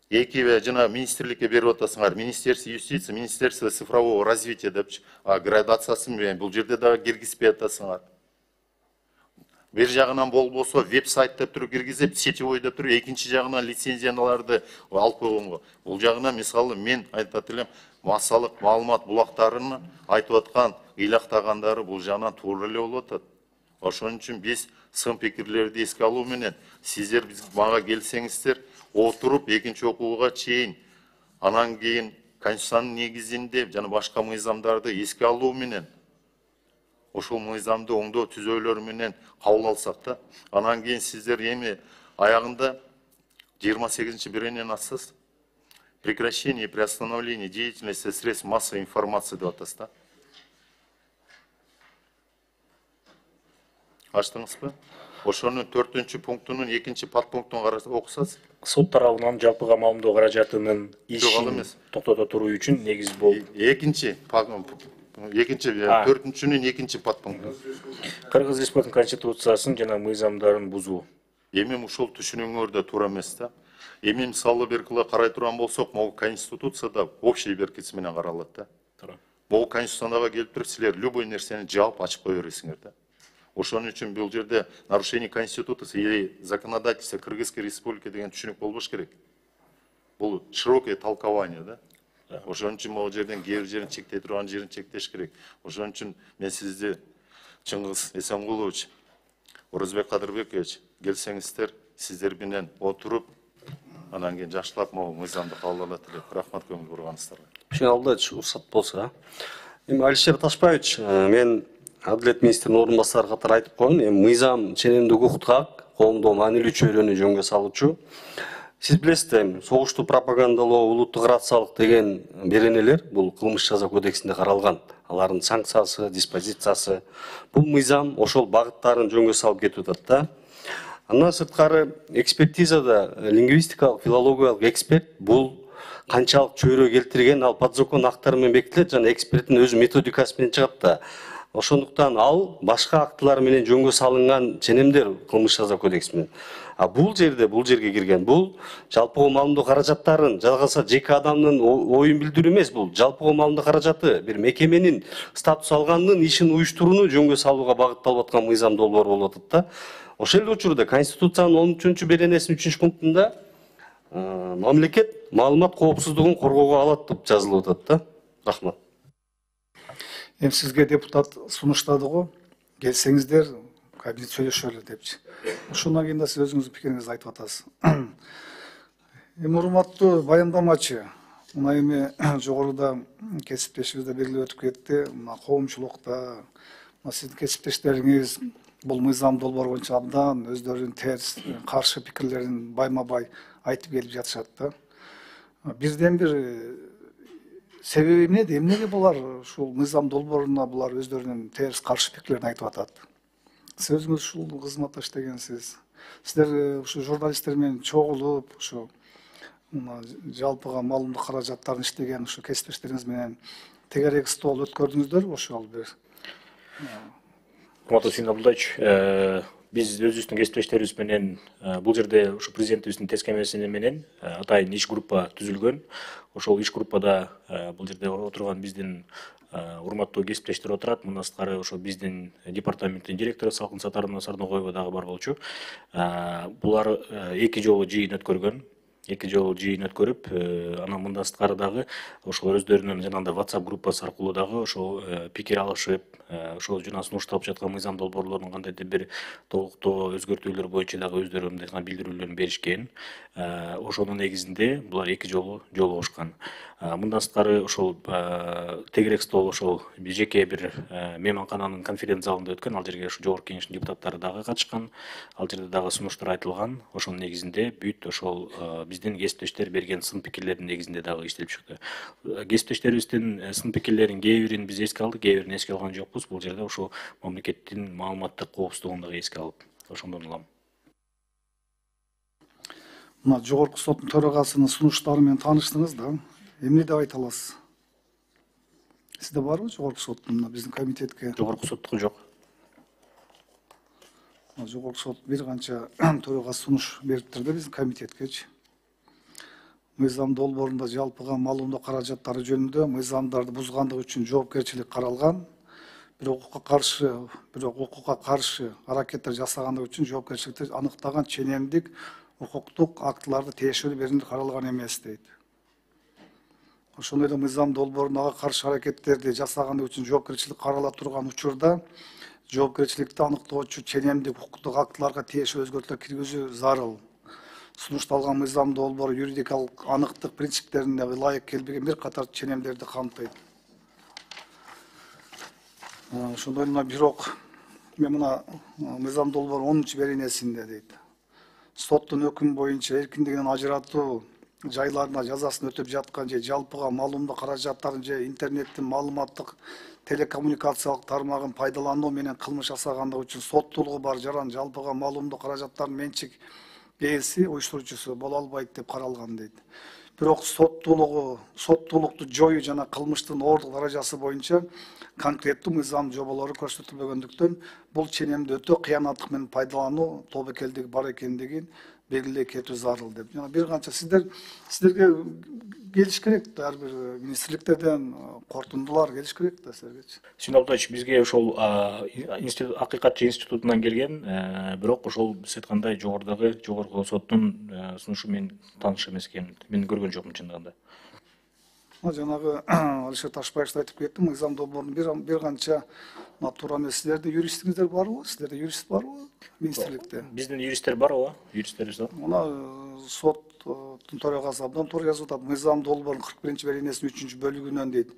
эки жана министрликке берип атасыңар. Министерство юстиции, Министерство цифрового развития депчи, градациясын менен бул жерде дагы киргизбей атасыңар. Бир жагынан болбосо веб-сайт деп туруп киргизип, сетевой деп туруп, экинчи жагынан лицензияларды алып койгонго. Бул жагынан мисалы мен айтат элем, массалык маалымат булактарын айтып аткан, ыйлактагандары бул жагынан туура эле болуп атат. Ошон үчүн биз сын пикирлерди эске алуу менен сиздер биз мага келсеңиздер, отуруп экинчи окууга чейин, анан кийин Конституциянын негизинде жана башка мыйзамдарды эске алуу менен ошол мыйзамды оңдоо түзөөлөр менен кабыл алсак да, анан кийин сиздер эми аягында жыйырма сегизинчи беренени ачсыз. Прекращение и приостановление деятельности средств массовой информации деп атасыз да. Ачтыңызбы? Ошонун төртүнчү пунктунун экинчи подпунктун окусаңыз. Сот тарабынан жалпыга маалымдоо каражатынын ишин токтото туруу үчүн негиз болуп. Экинчи экинчи төртүнчүнүн экинчи подпункту. Кыргыз Республикасынын конституциясын жана мыйзамдарын бузуу. Эми ушул түшүнүңөр да туура эмес да. Эми мисалы беркила карай турган болсок, могу конституцияда общий беркитси менен каралат да. Могу конституцияга келип туруп силер любой нерсени жаап ачып кое бересиңер да. Ошон үчүн бул жерде нарушение конституции или законодательства Кыргызской республики деген түшүнүк болбош керек. Бул широкое толкование да. Ошон үчүн могу жерден кээ бир жерин чектей турган жерин чектеш керек. Ошон үчүн мен сизди Чыңгыз Эсенкулович, Орозбек Кадырбекович келсеңиздер, сиздер менен отуруп, анан кийин жакшылап могу мыйзамды кабыл алат элек. Рахмат көңүл бурганыңыздарга. Сүйүн Абдулдаевич, уруксат болсо. Эми Алишер Ташбаевич, мен Адилет министринин орун басары катары айтып коеюн, эми мыйзам ченемдик укуктук, коомдо маанилүү чөйрөнү жөнгө салуучу. Сиз билесиз, эми согушту пропагандалоо, улуттук рациялык деген беренелер бул кылмыш жаза кодексинде каралган. Алардын санкциясы, диспозициясы, бул мыйзам ошол багыттарын жөнгө салып кетип атат да. Андан сырткары экспертизада лингвистикалык, филологиялык эксперт бул канчалык чөйрө келтирген, ал подзакон актары менен бекитилет жана эксперттин өзү методикасы менен чыгат да. Ошондуктан ал башка актылар менен жөнгө салынган ченемдер кылмыш жаза кодекси менен. А бул жерде, бул жерге кирген, бул жалпыга маалымдоо каражаттарын, жалгаса жеке адамдын оюн билдирүү эмес, бул жалпыга маалымдоо каражаты бир мекеменин статус алганынын ишин уюштурууну жөнгө салууга багытталып аткан мыйзам долбоор болуп атат да. Ошол эле учурда Конституциянын он үчүнчү беренесинин үчүнчү пунктунда мамлекет маалымат коопсуздугун коргоого алат деп жазылып атат да. Рахмат. Эми сизге депутат сунуштады го, келсеңиздер кабинет сүйлөшөлү депчи. Ошондон кийин да сиз өзүңүздүн пикириңизди айтып атасыз. Эми урматтуу баяндамачы, Мына эми жогоруда кесиптешибиз да белгилеп өтүп кетти. Мына коомчулукта, мына сиздин кесиптештериңиз бул мыйзам долбоор боюнча абдан өздөрүнүн терс, каршы пикирлерин байма бай айтып келип жатышат да. Бирден бир себеби эмнеде? Эмнеге булар ушул мыйзам долбооруна булар өздөрүнүн терс каршы пикирлерин айтып атат? Сиз өзүңүз ушул кызматта иштегенсиз. Сиздер ушу журналисттер менен чогулуп, ушу жалпыга маалымдоо каражаттарын иштеген ушу кесиптештериңиз менен тегерек стол өткөрдүңүздөрбү ошол бир? Урматтуу Сүйүн Абдулдаевич, биз өзүбүздүн кесиптештерибиз менен бул жерде ушу президентибиздин тескемеси менен атайын иш группа түзүлгөн. Ошол иш группада бул жерде отурган биздин урматтуу кесиптештер отурат. Мындан сырткары ошо биздин департаменттин директору Салкын Сатаровна Сарногоева дагы бар болчу. Булар эки жолу жыйын өткөргөн. эки жолу жыйын өткөрүп, анан мындан сырткары дагы ошол өздөрүнүн жанагындай WhatsApp группасы аркылуу дагы ошол пикир алышып, ошол жана сунушталып жаткан мыйзам долбоорлорунун кандайдыр бир толуктоо өзгөртүүлөр боюнча дагы өздөрү мындай билдирүүлөрүн беришкен. Ошонун негизинде булар эки жолу жолугушкан. Мындан сырткары ошол тегерек стол ошол жеке бир мейманкананын конференц залында өткөн. Ал жерге ошо жогорку кеңештин депутаттары дагы катышкан. Ал жерде дагы сунуштар айтылган. Ошонун негизинде бүт ошол биздин кесиптештер берген сын пикирлердин негизинде дагы иштелип чыкты. Кесиптештерибиздин сын пикирлеринин кээ бирин биз эске алдык, кээ бирин эске алган жокпуз. Бул жерде ошо мамлекеттин маалыматтык коопсуздугун дагы эске алып, ошондон улам. Мына жогорку соттун төрагасынын сунуштары менен тааныштыңыз да. Эмне деп айта аласыз? Сизде барбы жогорку соттун биздин комитетке? Жогорку соттуку жок. Жогорку сот бир канча төрагасы сунуш бериптир да биздин комитеткечи. Мыйзам долбоорунда жалпыга маалымдоо каражаттары жөнүндө мыйзамдарды бузгандык үчүн жоопкерчилик каралган. Бирок укукка каршы, бирок укукка каршы аракеттер жасагандык үчүн жоопкерчиликти аныктаган ченемдик укуктук актыларды тиешелүү берүүнү каралган эмес дейт. Ошондой эле мыйзам долбооруна каршы аракеттерди жасагандык үчүн жоопкерчилик карала турган учурда жоопкерчиликти аныктоочу ченемдик укуктук актыларга тиешелүү өзгөртүүлөр киргизүү зарыл. Сунушталган мыйзам долбоору юридикалык аныктык принциптерине ылайык келбеген бир катар ченемдерди камтыйт. Ошондой эле бирок мен мына мыйзам долбоору онунчу беренесинде дейт. Соттун өкүмү боюнча эркиндигинен ажыратуу жайларына жазасын өтөп жаткан же жалпыга маалымдоо каражаттарын же интернеттин маалыматтык телекоммуникациялык тармагын пайдалануу менен кылмыш жасагандыгы үчүн соттуулугу бар жаран жалпыга маалымдоо каражаттарынын менчик ээси уюштуруучусу боло албайт деп каралган дейт. Бирок соттуулугу, соттуулукту жоюу жана кылмыштын оорлук даражасы боюнча конкреттүү мыйзам жоболору көрсөтүлбөгөндүктөн бул ченемди өтө кыянаттык менен пайдалануу тобокелдиги бар экендигин белгилей кетүү зарыл деп. Жана бир канча сиздер сиздерге келиш керек да, ар бир министрликтерден кортундулар келиш керек да силерге. Сүйүн Абдулдаевич, бизге ошол акыйкатчы институтунан келген, бирок ошол сиз айткандай жогорудагы жогорку соттун сунушу менен тааныш эмес экен. Мен көргөн жокмун чындыгында. Жанагы Алишер Ташбаев айтып кетти, мыйзам долбоорунун бир канча туура эмес. Силерде юристиңиздер барбы? Сиздерде юрист барбы министрликте? Биздин юристтер бар, ооба, юристтерибиз бар. Мына соттун төрагасы абдан туура жазып атат. Мыйзам долбоорунун кырк биринчи беренесинин үчүнчү бөлүгүнөн дейт.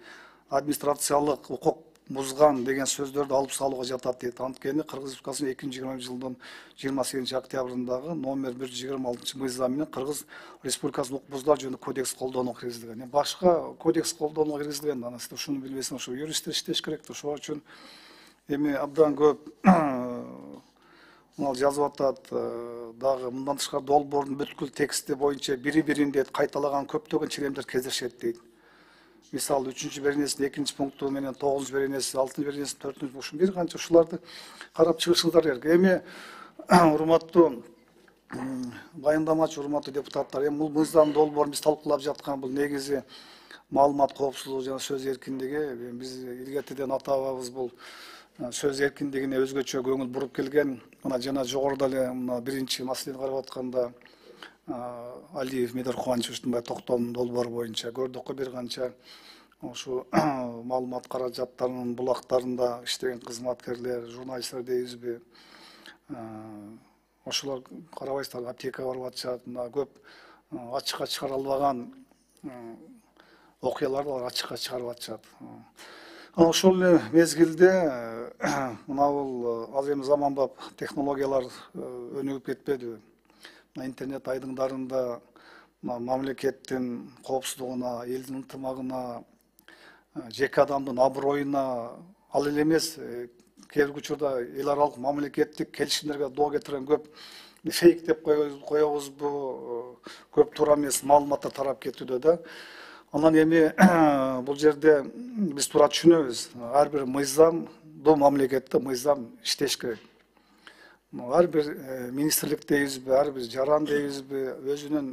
Администрациялык укук бузган деген сөздөрдү алып салууга жатат дейт. Анткени Кыргыз Республикасынын эки миң жыйырманчы жылдын жыйырма сегизинчи октябрындагы номер бир жүз жыйырма алтынчы мыйзам менен Кыргыз Республикасынын укук бузуулар жөнүндө кодекс колдонууга киргизилген. Башка кодекс колдонууга киргизилген. Анан сиз ушуну билбесиң, ошо юристтер иштеш керек да. Ошол үчүн эми абдан көп мал жазып атат. Дагы мындан тышкары долбоордун бүткүл тексти боюнча бири-бирин дейт кайталаган көптөгөн ченемдер кездешет дейт. Мисалы үчүнчү беренесинин экинчи пункту менен тогузунчу беренеси, алтынчы беренесинин төртүнчү пункту бир канча ушуларды карап чыгышыңыздар керек. Эми урматтуу баяндамачы, урматтуу депутаттар, эми бул мыйзам долбоорун биз талкуулап жаткан бул негизи маалымат коопсуздугу жана сөз эркиндиги. Биз илгертеден ата-бабабыз бул сөз эркиндигине өзгөчө көңүл буруп келген. Мына жана жогоруда эле мына биринчи маселени карап атканда Алиев Медер Кубанычевичтин бай токтом долбоору боюнча көрдүк го бир канча ушу маалымат каражаттарынын булактарында иштеген кызматкерлер, журналисттер дейбизби, ошолор карабайсыздар, аптекага барып атышат, мына көп ачыкка чыгара албаган окуяларды алар ачыкка чыгарып атышат. Анан ошол эле мезгилде мына бул ал эми заманбап технологиялар өнүгүп кетпедиби? Мына интернет айдыңдарында мамлекеттин коопсуздугуна, элдин ынтымагына, жеке адамдын аброюна ал эле эмес, кээ бир учурда эл аралык мамлекеттик келишимдерге доо кетирген көп фейк деп коебузбу, көп туура эмес маалыматтар тарап кетүүдө да. Анан эми бул жерде биз туура түшүнөбүз, ар бир мыйзамдуу мамлекетте мыйзам иштеш керек. Ар бир министрлик дейбизби, ар бир жаран дейбизби, өзүнүн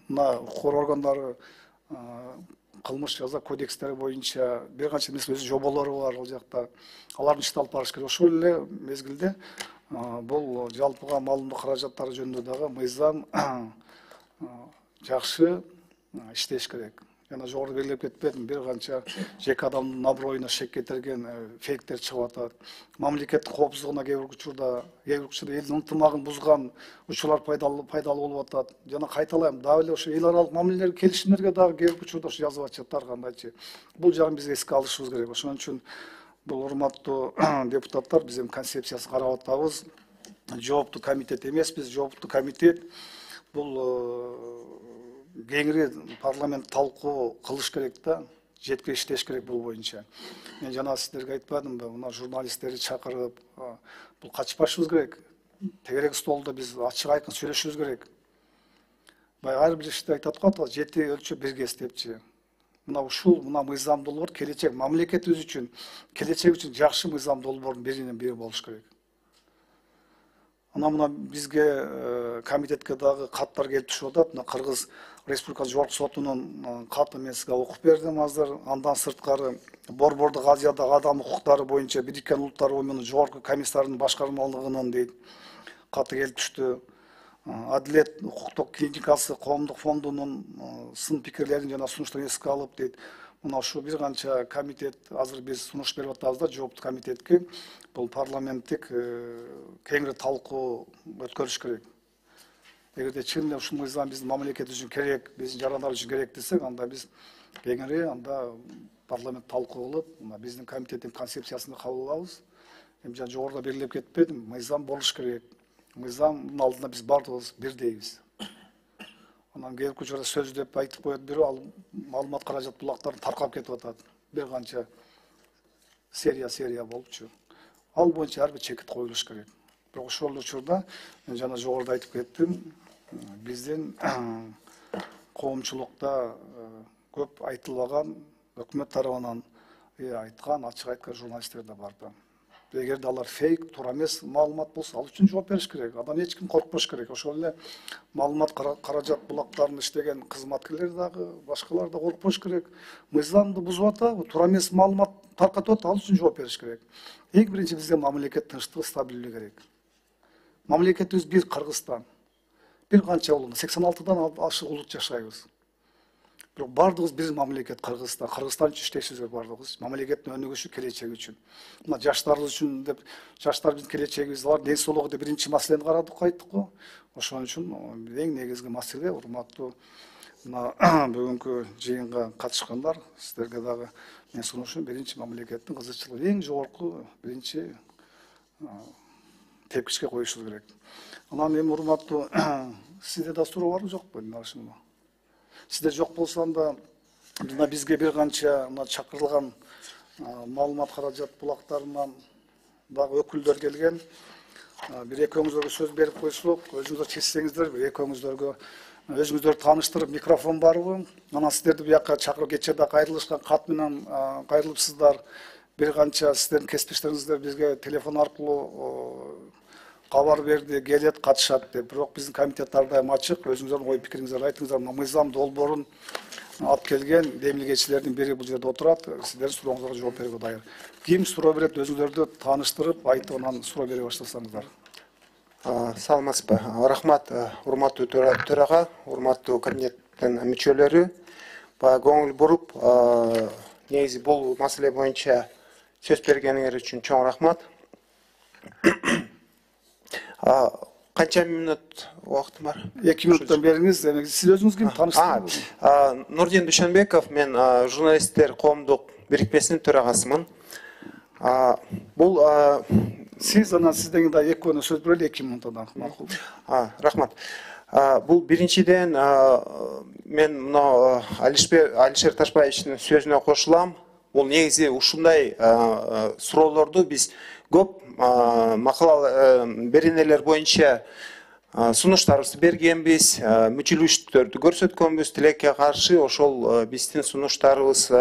мына укук органдары кылмыш жаза кодекстери боюнча бир канча өзү жоболору бар ал жакта. Алардын ишин алып барыш керек. Ошол эле мезгилде бул жалпыга маалымдоо каражаттары жөнүндө дагы мыйзам жакшы иштеш керек. Жана жогору белгилеп кетпедим, бир канча жеке адамдын аброюна шек кетирген фейктер чыгып атат. Мамлекеттин коопсуздугуна кээ бир учурда, кээ бир учурда элдин ынтымагын бузган учурлар пайдалуу пайдалуу болуп атат. Жана кайталайм, дагы эле ошо эл аралык мамилелер, келишимдерге дагы кээ бир учурда ошо жазып атышат ар кандайчы. Бул жагын биз эске алышыбыз керек. Ошон үчүн бул урматтуу депутаттар, биз эми концепциясын карап атабыз. Жооптуу комитет эмеспиз, жооптуу комитет бул кеңири парламент талкуу кылыш керек да, жетке иштеш керек бул боюнча. Мен жана сиздерге айтпадымбы, мына журналисттерди чакырып, бул качпашыбыз керек. Тегерек столдо биз ачык айкын сүйлөшүбүз керек. Баягы ар бир ишти айтат го, жети өлчөп бир кес депчи. Мына ушул мына мыйзам долбоор келечек мамлекетибиз үчүн, келечек үчүн жакшы мыйзам долбоордун биринен бири болуш керек. Анан мына бизге комитетке дагы каттар келип түшүп атат. Мына Кыргыз Республикасы Жогорку сотунун каты мен сизге окуп бердим азыр. Андан сырткары Борбордук Азиядагы адам укуктары боюнча Бириккен Улуттар Уюмунун Жогорку комиссарынын башкармалыгынан дейт каты келип түштү. Адилет укуктук клиникасы коомдук фондунун сын пикирлерин жана сунуштарын эске алып дейт. Мына ушул бир канча комитет азыр биз сунуш берип атабыз да жооптуу комитетке. Бул парламенттик кеңири талкуу өткөрүш керек. Эгерде чын эле ушул мыйзам биздин мамлекетибиз үчүн керек, биздин жарандар үчүн керек десек, анда биз кеңири анда парламент талкуу кылып, мына биздин комитеттин концепциясын кабыл алабыз. Эми жана жогоруда белгилеп кетпедим, мыйзам болуш керек. Мыйзамдын алдында биз бардыгыбыз бирдейбиз. Анан кээ бир учурда сөз деп айтып коет бирөө, ал маалымат каражат булактарын таркап кетип атат. Бир канча серия серия болупчу. Ал боюнча ар бир чекит коюлуш керек. Бирок ошол учурда мен жана жогоруда айтып кеттим, биздин коомчулукта көп айтылбаган, өкмөт тарабынан айткан, ачык айткан журналисттер да бар да. Эгерде алар фейк, туура эмес маалымат болсо, ал үчүн жооп бериш керек. Адам эч ким коркпош керек. Ошол эле маалымат каражат булактарын иштеген кызматкерлер дагы, башкалар да коркпош керек. Мыйзамды бузуп атабы, туура эмес маалымат таркатып атат, ал үчүн жооп бериш керек. Эң биринчи бизге мамлекет тынчтыгы, стабилдүүлүгү керек. Мамлекетибиз бир Кыргызстан. Бир канча улут, сексен алтыдан ашык улут жашайбыз. Бирок бардыгыбыз бир мамлекет Кыргызстан. Кыргызстан үчүн иштешибиз керек бардыгыбыз. Мамлекеттин өнүгүшү, келечеги үчүн. Мына жаштарыбыз үчүн деп, жаштар биздин келечегибиз, алар ден соолугу деп биринчи маселени карадык, айттык го. Ошон үчүн эң негизги маселе, урматтуу мына бүгүнкү жыйынга катышкандар, сиздерге дагы мен сунушум биринчи мамлекеттин кызыкчылыгы эң жогорку биринчи тепкичке коюшубуз керек. Анан эми урматтуу сизде да суроо барбы жокпу? Сизде жок болсо анда мына бизге бир канча мына чакырылган маалымат каражат булактарынан дагы өкүлдөр келген. Бир экөөңүздөргө сөз берип койсок, өзүңүздөр чечсеңиздер, бир экөөңүздөргө өзүңүздөрдү тааныштырып, микрофон барбы? Анан сиздерди буяка чакырып кечээ кайрылышкан кат менен кайрылыпсыздар. Бир канча сиздердин кесиптештериңиздер бизге телефон аркылуу кабар берди, келет, катышат деп. Бирок биздин комитет ар дайым ачык, өзүңүздөрдүн ой пикириңиздерди айтыңыздар. Мыйзам долбоорун алып келген демилгечилердин бири бул жерде отурат, сиздердин сурооңуздарга жооп берүүгө дайыр. Ким суроо берет, өзүңүздөрдү тааныштырып, айтып, анан суроо бере баштасаңыздар. Саламатсызбы? Рахмат, урматтуу төрага, урматтуу комитеттин мүчөлөрү. Баягы көңүл буруп, негизи бул маселе боюнча сөз бергениңер үчүн чоң рахмат. канча мүнөт убактым бар? эки мүнөттөн бериңиз. Демек сиз өзүңүз ким тааныштырыңыз? Нурдин Дүйшөнбеков, мен журналисттер коомдук бирикмесинин төрагасымын. Бул сиз анан сизден да экөөнө сөз берели, эки мүнөттөн макул. Рахмат. Бул биринчиден мен мына Алишер Ташбаевичтин сөзүнө кошулам. Бул негизи ушундай суроолорду биз көп макала беренелер боюнча сунуштарыбызды бергенбиз, мүчүлүштөрдү көрсөткөнбүз. Тилекке каршы ошол биздин сунуштарыбыз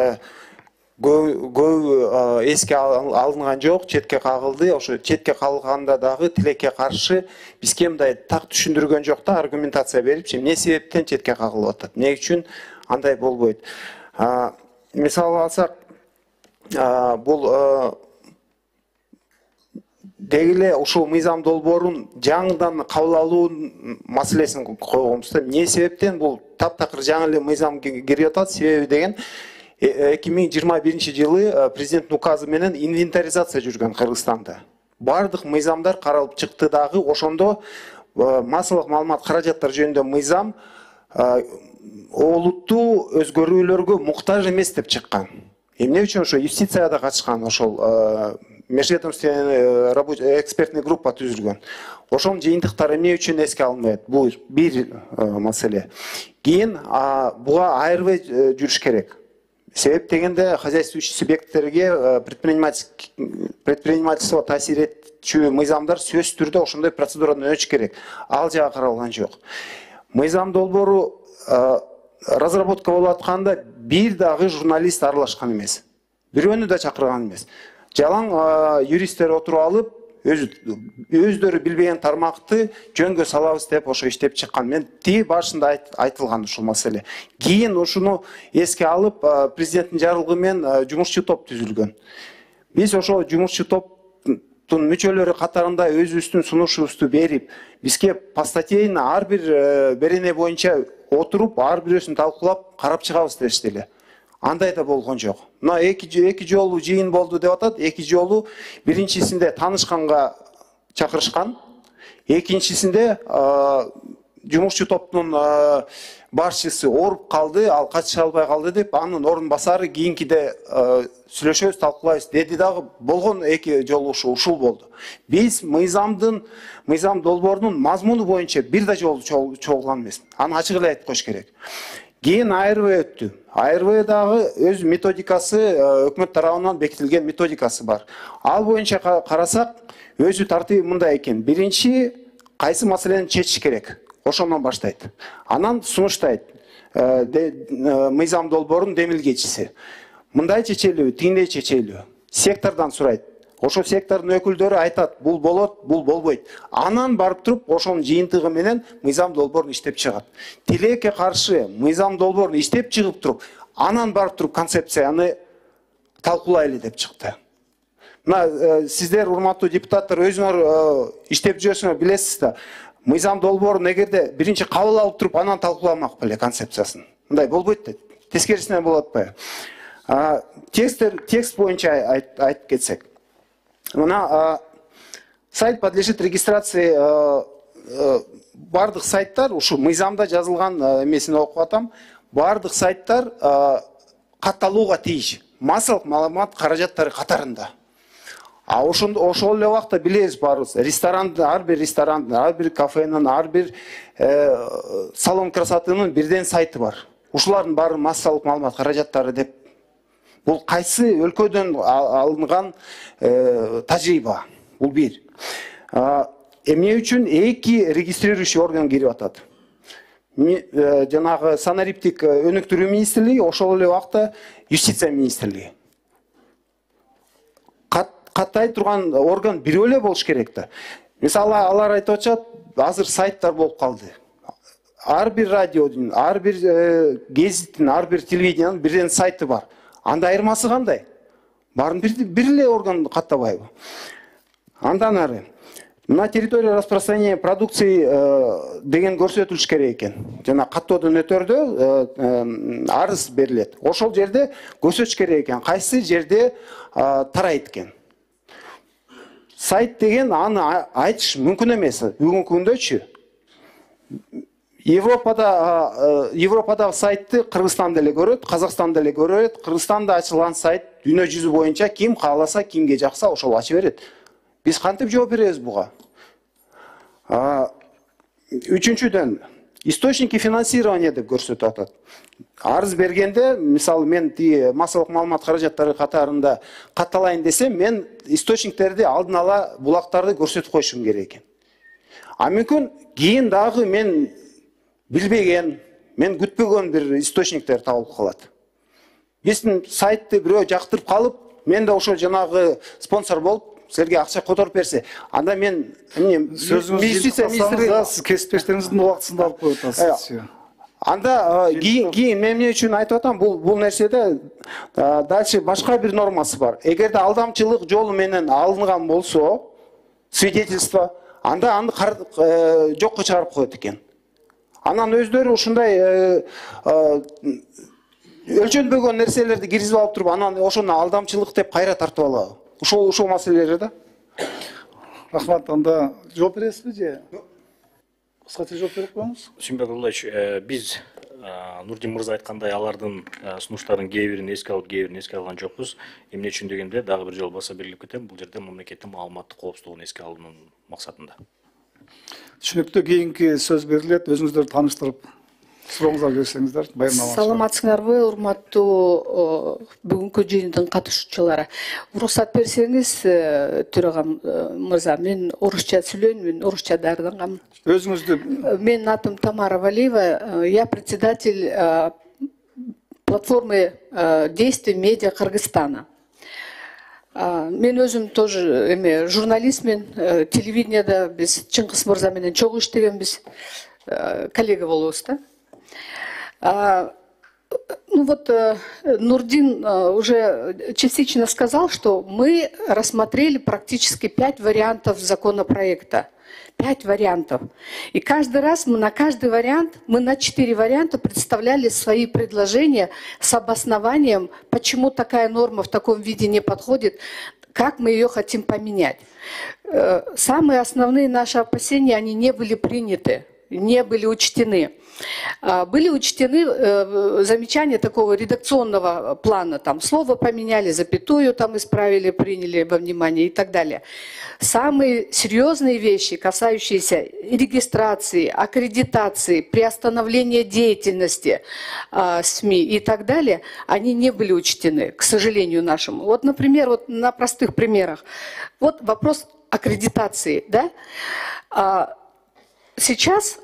көп эске алынган жок, четке кагылды. Ошо четке калганда дагы тилекке каршы бизге мындай так түшүндүргөн жок да, аргументация берип, эмне себептен четке кагылып атат, эмне үчүн андай болбойт. Мисалы алсак, бул дегиле ушул мыйзам долбоорун жаңыдан кабыл алуу маселесин койгонбуз да. Эмне себептен бул таптакыр жаңы эле мыйзам кирип атат? Себеби деген эки миң жыйырма биринчи жылы президенттин указы менен инвентаризация жүргөн Кыргызстанда. Бардык мыйзамдар каралып чыкты дагы, ошондо массалык маалымат каражаттар жөнүндө мыйзам олуттуу өзгөрүүлөргө муктаж эмес деп чыккан. Эмне үчүн ошо юстицияда катышкан, ошол межведомственный экспертный группа түзүлгөн. Ошонун жыйынтыктары эмне үчүн эске алынбайт? Бул бир маселе. Кийин буга айырбай жүрүш керек. Себеп дегенде хозяйствующий субъекттерге предпринимательство таасир этчү мыйзамдар сөзсүз түрдө ошондой процедурадан өтүш керек. Ал жагы каралган жок. Мыйзам долбоору разработка болуп атканда бир дагы журналист аралашкан эмес. Бирөөнү да чакырган эмес. Жалаң юристтер отуруп алып, өздөрү билбеген тармакты жөнгө салабыз деп ошо иштеп чыккан. Мен тиги башында айтылган ушул маселе. Кийин ушуну эске алып, президенттин жарлыгы менен жумушчу топ түзүлгөн. Биз ошо жумушчу топтун мүчөлөрү катарында өзүбүздүн сунушубузду берип, бизге постатейно ар бир берене боюнча отуруп, ар бирөөсүн талкуулап, карап чыгабыз дешти эле. Андай да болгон жок. Мына эки эки жолу жыйын болду деп атат. Эки жолу биринчисинде таанышканга чакырышкан, экинчисинде жумушчу топтун башчысы ооруп калды, ал катыша албай калды деп, анын орун басары кийинкиде сүйлөшөбүз, талкуулайбыз деди дагы. Болгон эки жолу ушул болду. Биз мыйзамдын, мыйзам долбоорунун мазмуну боюнча бир да жолу чогулган эмес. Аны ачык эле айтып коюш керек. Кийин АРВ өттү. АРВ дагы өз методикасы, өкмөт тарабынан бекитилген методикасы бар. Ал боюнча карасак, өзү тартиби мындай экен. Биринчи, кайсы маселени чечиш керек? Ошондон баштайт. Анан сунуштайт. Мыйзам долбоорунун демилгечиси. Мындай чечелүү, тигиндей чечелүү. Сектордон сурайт. Ошо сектордун өкүлдөрү айтат, бул болот, бул болбойт. Анан барып туруп, ошонун жыйынтыгы менен мыйзам долбоорун иштеп чыгат. Тилекке каршы мыйзам долбоорун иштеп чыгып туруп, анан барып туруп концепцияны талкуулайлы деп чыкты. Мына сиздер, урматтуу депутаттар, өзүңөр иштеп жүрсөңөр билесиз да, мыйзам долбоорун эгерде биринчи кабыл алып туруп, анан талкууламак беле концепциясын. Мындай болбойт да. Тескерисинен болот атпайбы? Текст боюнча айтып кетсек. Мына сайт подлежит регистрации, бардык сайттар, ушу мыйзамда жазылган эмесин окуп атам, бардык сайттар катталууга тийиш. Массалык маалымат каражаттары катарында. А ошол эле убакта билебиз баарыбыз, ресторандын, ар бир ресторандын, ар бир кафенин, ар бир салон красотынын бирден сайты бар. Ушулардын баары массалык маалымат каражаттары деп. Бул кайсы өлкөдөн алынган тажрыйба? Бул бир. Эмне үчүн эки регистрирующий орган кирип атат? Жанагы санариптик өнүктүрүү министрлиги, ошол эле убакта юстиция министрлиги. Каттай турган орган бирөө эле болуш керек да. Мисалы, алар айтып атышат, азыр сайттар болуп калды. Ар бир радиодун, ар бир гезиттин, ар бир телевидениянын бирден сайты бар. Анда айырмасы кандай? Барын бир эле орган каттабайбы? Андан ары, на территории распространения продукции деген көрсөтүлүш керек экен. Жана каттоодон өтөрдө арыз берилет. Ошол жерде көрсөтүш керек экен, кайсы жерде тарайт экен. сайт деген аны айтыш мүмкүн эмес. Бүгүнкү күндөчү Европада Европадагы сайтты Кыргызстан деле көрөт, Казакстан деле көрөт. Кыргызстанда ачылган сайт дүйнө жүзү боюнча ким кааласа, кимге жакса ошол ача берет. Биз кантип жооп беребиз буга? Үчүнчүдөн, источники финансирования деп көрсөтүп атат. Арыз бергенде, мисалы мен тие массалык маалымат каражаттары катарында катталайын десем, мен источниктерди алдын ала булактарды көрсөтүп коюшум керек экен. А мүмкүн кийин дагы мен билбеген, мен күтпөгөн бир источниктер табылып калат. Биздин сайтты бирөө жактырып калып, мен да ошо жанагы спонсор болуп силерге акча которуп берсе, анда мен сөзүңүздү сиз кесиптештериңиздин убактысында алып коюп атасыз. Анда кийин кийин мен эмне үчүн айтып атам, бул бул нерседе дальше башка бир нормасы бар. Эгерде алдамчылык жолу менен алынган болсо, свидетельство, анда аны жокко чыгарып коет экен. Анан өздөрү ушундай өлчөнбөгөн нерселерди киргизип алып туруп, анан ошону алдамчылык деп кайра тартып алабы? Ушул ушул маселелер да. Рахмат, анда жооп бересизби же? Кыскача жооп берип коюңуз. Сүйүнбек Абдуллаевич, биз Нурдин мырза айткандай алардын сунуштардын кээ бирин эске алып, кээ бирин эске алган жокпуз. Эмне үчүн дегенде дагы бир жолу баса белгилеп кетем, бул жерде мамлекеттин маалыматтык коопсуздугун эске алуунун максатында. Түшүнүктүү, кийинки сөз берилет. Өзүңүздөрдү тааныштырып, сурооңузга берсеңиздер, баяндама. Саламатсыңарбы, урматтуу бүгүнкү жыйындын катышуучулары. Уруксат берсеңиз, төрагам мырза, мен орусча сүйлөйүн, мен орусча даярдангам. Өзүңүздү. Менин атым Тамара Валиева, я председатель платформы действий медиа Кыргызстана. Мен өзүм тоже эме журналистмин, телевиденияда биз Чыңгыз мырза менен чогуу иштегенбиз, коллега болобуз да. Ну вот Нурдин уже частично сказал, что мы рассмотрели практически пять вариантов законопроекта. Пять вариантов. И каждый раз мы на каждый вариант, мы на четыре варианта представляли свои предложения с обоснованием, почему такая норма в таком виде не подходит, как мы ее хотим поменять. Самые основные наши опасения, они не были приняты, не были учтены. Были учтены замечания такого редакционного плана, там слово поменяли, запятую там исправили, приняли во внимание и так далее. Самые серьезные вещи, касающиеся регистрации, аккредитации, приостановления деятельности СМИ и так далее, они не были учтены, к сожалению нашему. Вот, например, вот на простых примерах. Вот вопрос аккредитации, да? Сейчас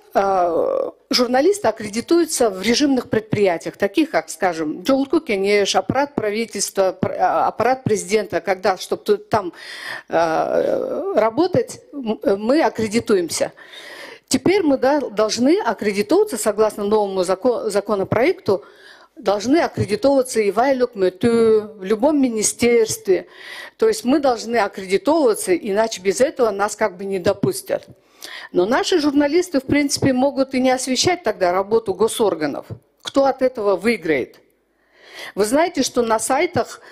журналисты аккредитуются в режимных предприятиях, таких как, скажем, Жогорку Кеңеш, аппарат правительства, аппарат президента, когда, чтобы там работать, мы аккредитуемся. Теперь мы должны аккредитоваться, согласно новому законопроекту, должны аккредитовываться и в Айлюк-Мэту, в любом министерстве. То есть мы должны аккредитовываться, иначе без этого нас как бы не допустят. Но наши журналисты, в принципе, могут и не освещать тогда работу госорганов. Кто от этого выиграет? Вы знаете, что на сайтах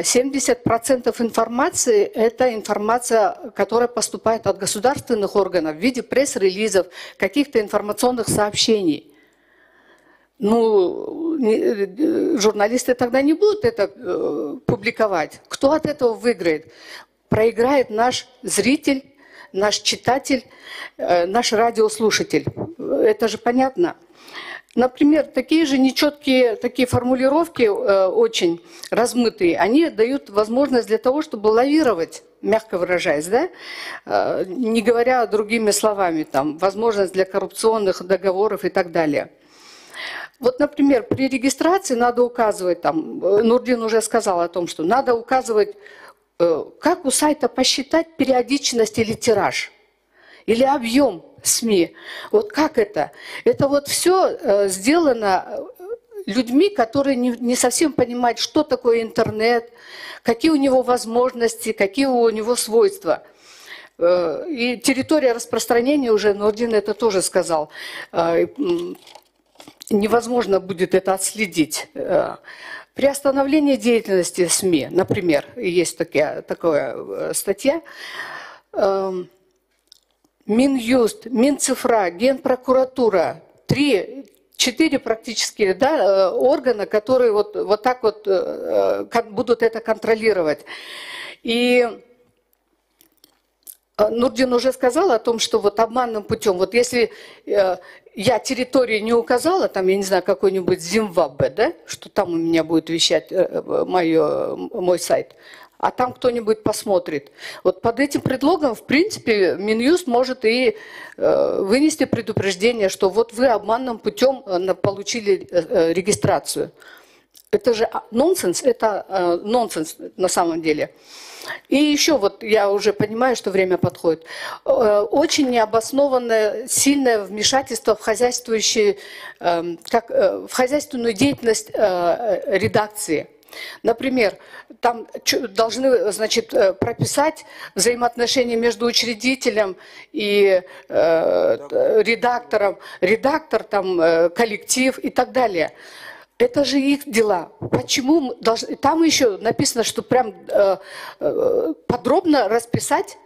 семьдесят процентов информации – это информация, которая поступает от государственных органов в виде пресс-релизов, каких-то информационных сообщений. Ну, журналисты тогда не будут это э, публиковать. Кто от этого выиграет? Проиграет наш зритель, наш читатель, э, наш радиослушатель. Это же понятно. Например, такие же нечеткие такие формулировки, э, очень размытые, они дают возможность для того, чтобы лавировать, мягко выражаясь, да? Э, не говоря другими словами, там, возможность для коррупционных договоров и так далее. Вот, например, при регистрации надо указывать, там, Нурдин уже сказал о том, что надо указывать, как у сайта посчитать периодичность или тираж, или объем СМИ. Вот как это? Это вот все сделано людьми, которые не совсем понимают, что такое интернет, какие у него возможности, какие у него свойства. И территория распространения, уже Нурдин это тоже сказал, невозможно будет это отследить. Приостановление деятельности СМИ, например, есть такая, такая статья, Минюст, Минцифра, Генпрокуратура, три, четыре практически, да, органа, которые вот, вот так вот будут это контролировать. И Нурдин уже сказал о том, что вот обманным путем, вот если э, я территорию не указала, там, я не знаю, какой-нибудь Зимбабве, да, что там у меня будет вещать э, моё, мой сайт, а там кто-нибудь посмотрит. Вот под этим предлогом, в принципе, Минюст может и э, вынести предупреждение, что вот вы обманным путем э, получили э, регистрацию. Это же нонсенс, это э, нонсенс на самом деле. И еще вот я уже понимаю, что время подходит. Очень необоснованное, сильное вмешательство в хозяйствующие, как, в хозяйственную деятельность редакции. Например, там должны, значит, прописать взаимоотношения между учредителем и э, редактором, редактор, там, коллектив и так далее. Это же их дела. Почему должны... Там еще написано, что прям э, э, подробно расписать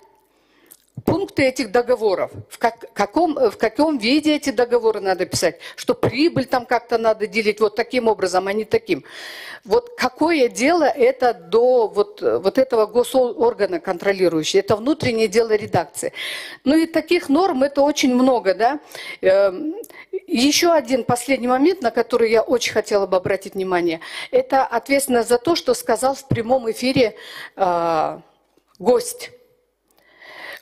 пункты этих договоров. В, как, каком, в каком виде эти договоры надо писать. Что прибыль там как-то надо делить вот таким образом, а не таким. Вот какое дело это до вот, вот этого госоргана контролирующего? Это внутреннее дело редакции. Ну и таких норм это очень много, да. Еще один последний момент, на который я очень хотела бы обратить внимание. Это ответственность за то, что сказал в прямом эфире э, гость.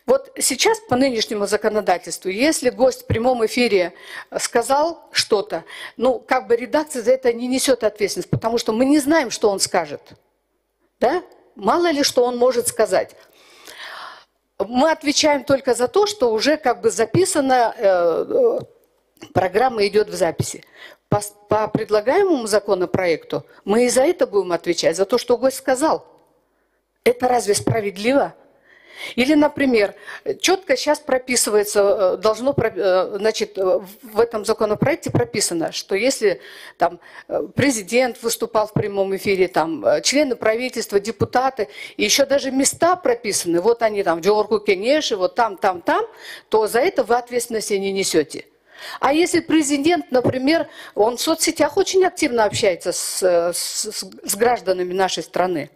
Вот сейчас по нынешнему законодательству, если гость в прямом эфире сказал что-то, ну, как бы редакция за это не несет ответственность, потому что мы не знаем, что он скажет. Да? Мало ли, что он может сказать. Мы отвечаем только за то, что уже как бы записано, э, программа идет в записи. По, по предлагаемому законопроекту мы и за это будем отвечать, за то, что гость сказал. Это разве справедливо? Или, например, четко сейчас прописывается, должно, значит, в этом законопроекте прописано, что если там президент выступал в прямом эфире, там члены правительства, депутаты, и еще даже места прописаны, вот они там в Джорку Кенеши, вот там, там, там, то за это вы ответственности не несете. А если президент, например, он в соцсетях очень активно общается с, с, с гражданами нашей страны,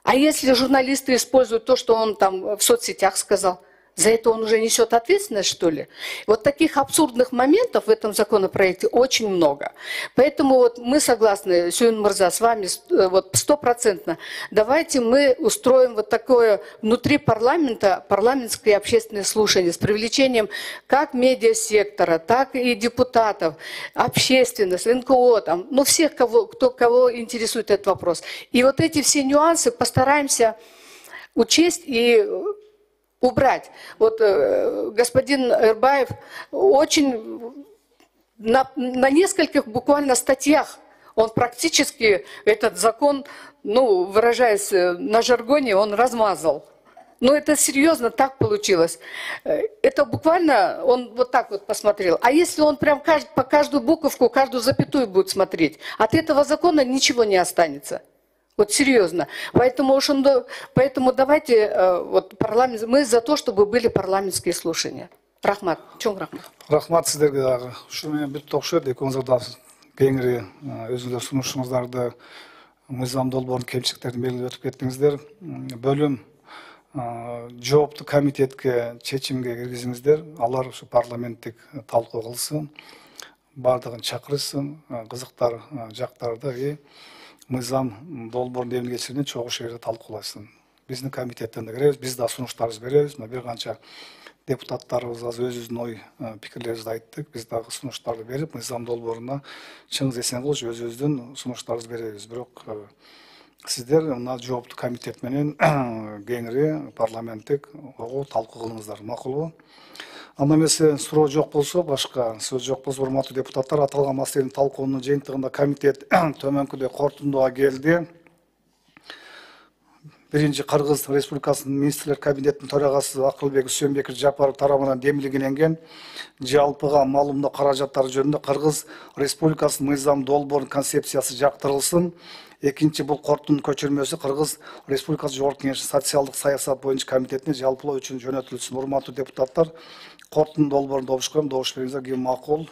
а если журналисты используют то, что он там в соцсетях сказал, за это он уже несет ответственность, что ли? Вот таких абсурдных моментов в этом законопроекте очень много. Поэтому вот мы согласны, Сюин Мырза, с вами вот стопроцентно. Давайте мы устроим вот такое внутри парламента, парламентское общественное слушание с привлечением как медиасектора, так и депутатов, общественность, эн ка о, там, ну всех, кого, кто, кого интересует этот вопрос. И вот эти все нюансы постараемся учесть и убрать. Вот э, господин Эрбаев очень на, на нескольких буквально статьях он практически этот закон, ну, выражаясь на жаргоне, он размазал. Но это серьезно так получилось. Это буквально он вот так вот посмотрел. А если он прям кажд, по каждую буковку, каждую запятую будет смотреть, от этого закона ничего не останется. Вот серьезно. Поэтому, поэтому давайте, вот, парламент, мы за то, чтобы были парламентские слушания. Рахмат. Чоң рахмат. Рахмат сіздерге дағы. Ушу менен бүт окшойт, экөөңүздөр да кеңири өзүңүздөр сунушуңуздарды мыйзам долбоордун кемчиликтерин белгилеп өтүп кеттиңиздер. Бөлүм жооптуу комитетке чечимге киргизиңиздер. Алар ушу парламенттик талкуу кылсын, бардыгын чакырышсын, кызыктар жактарды и мыйзам долбоорун эмне кечирүүнү чогуу жерде талкуулашсын. Биздин комитеттен да киребиз, биз да сунуштарыбызды беребиз. Мына бир канча депутаттарыбыз азыр өзүбүздүн ой пикирлерибизди айттык. Биз дагы сунуштарды берип, мыйзам долбооруна Чыңгыз Эсенкулович өзүбүздүн сунуштарыбызды беребиз. Бирок сиздер мына жооптуу комитет менен кеңири парламенттик огуу талкуу кылыңыздар, макулбу? Анда эмесе суроо жок болсо, башка сөз жок болсо, урматтуу депутаттар, аталган маселенин талкуунун жыйынтыгында комитет төмөнкүдөй корутундуга келди. биринчи Кыргыз Республикасынын министрлер кабинетинин төрагасы Акылбек Үсөнбеков Жапаров тарабынан демилгенген жалпыга маалымдоо каражаттары жөнүндө Кыргыз Республикасынын мыйзам долбоорунун концепциясы жактырылсын. Экинчи, бул кордун көчүрмөсү Кыргыз Республикасы Жогорку Кеңешинин социалдык саясат боюнча комитетине жалпылоо үчүн жөнөтүлсүн. Урматтуу депутаттар, кордун долбоорун добуш коем, добуш бериңиздер. Ким макул?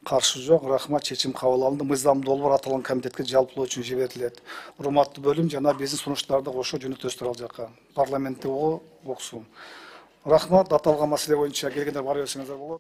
Каршы жок. Рахмат, чечим кабыл алынды. Мыйзам долбоор аталган комитетке жалпылоо үчүн жиберилет. Урматтуу бөлүм жана биздин сунуштарды кошо жөнөтөсүздөр ал жака. Парламентте уксун. Рахмат, аталган маселе боюнча келгендер бара берсеңиздер болот.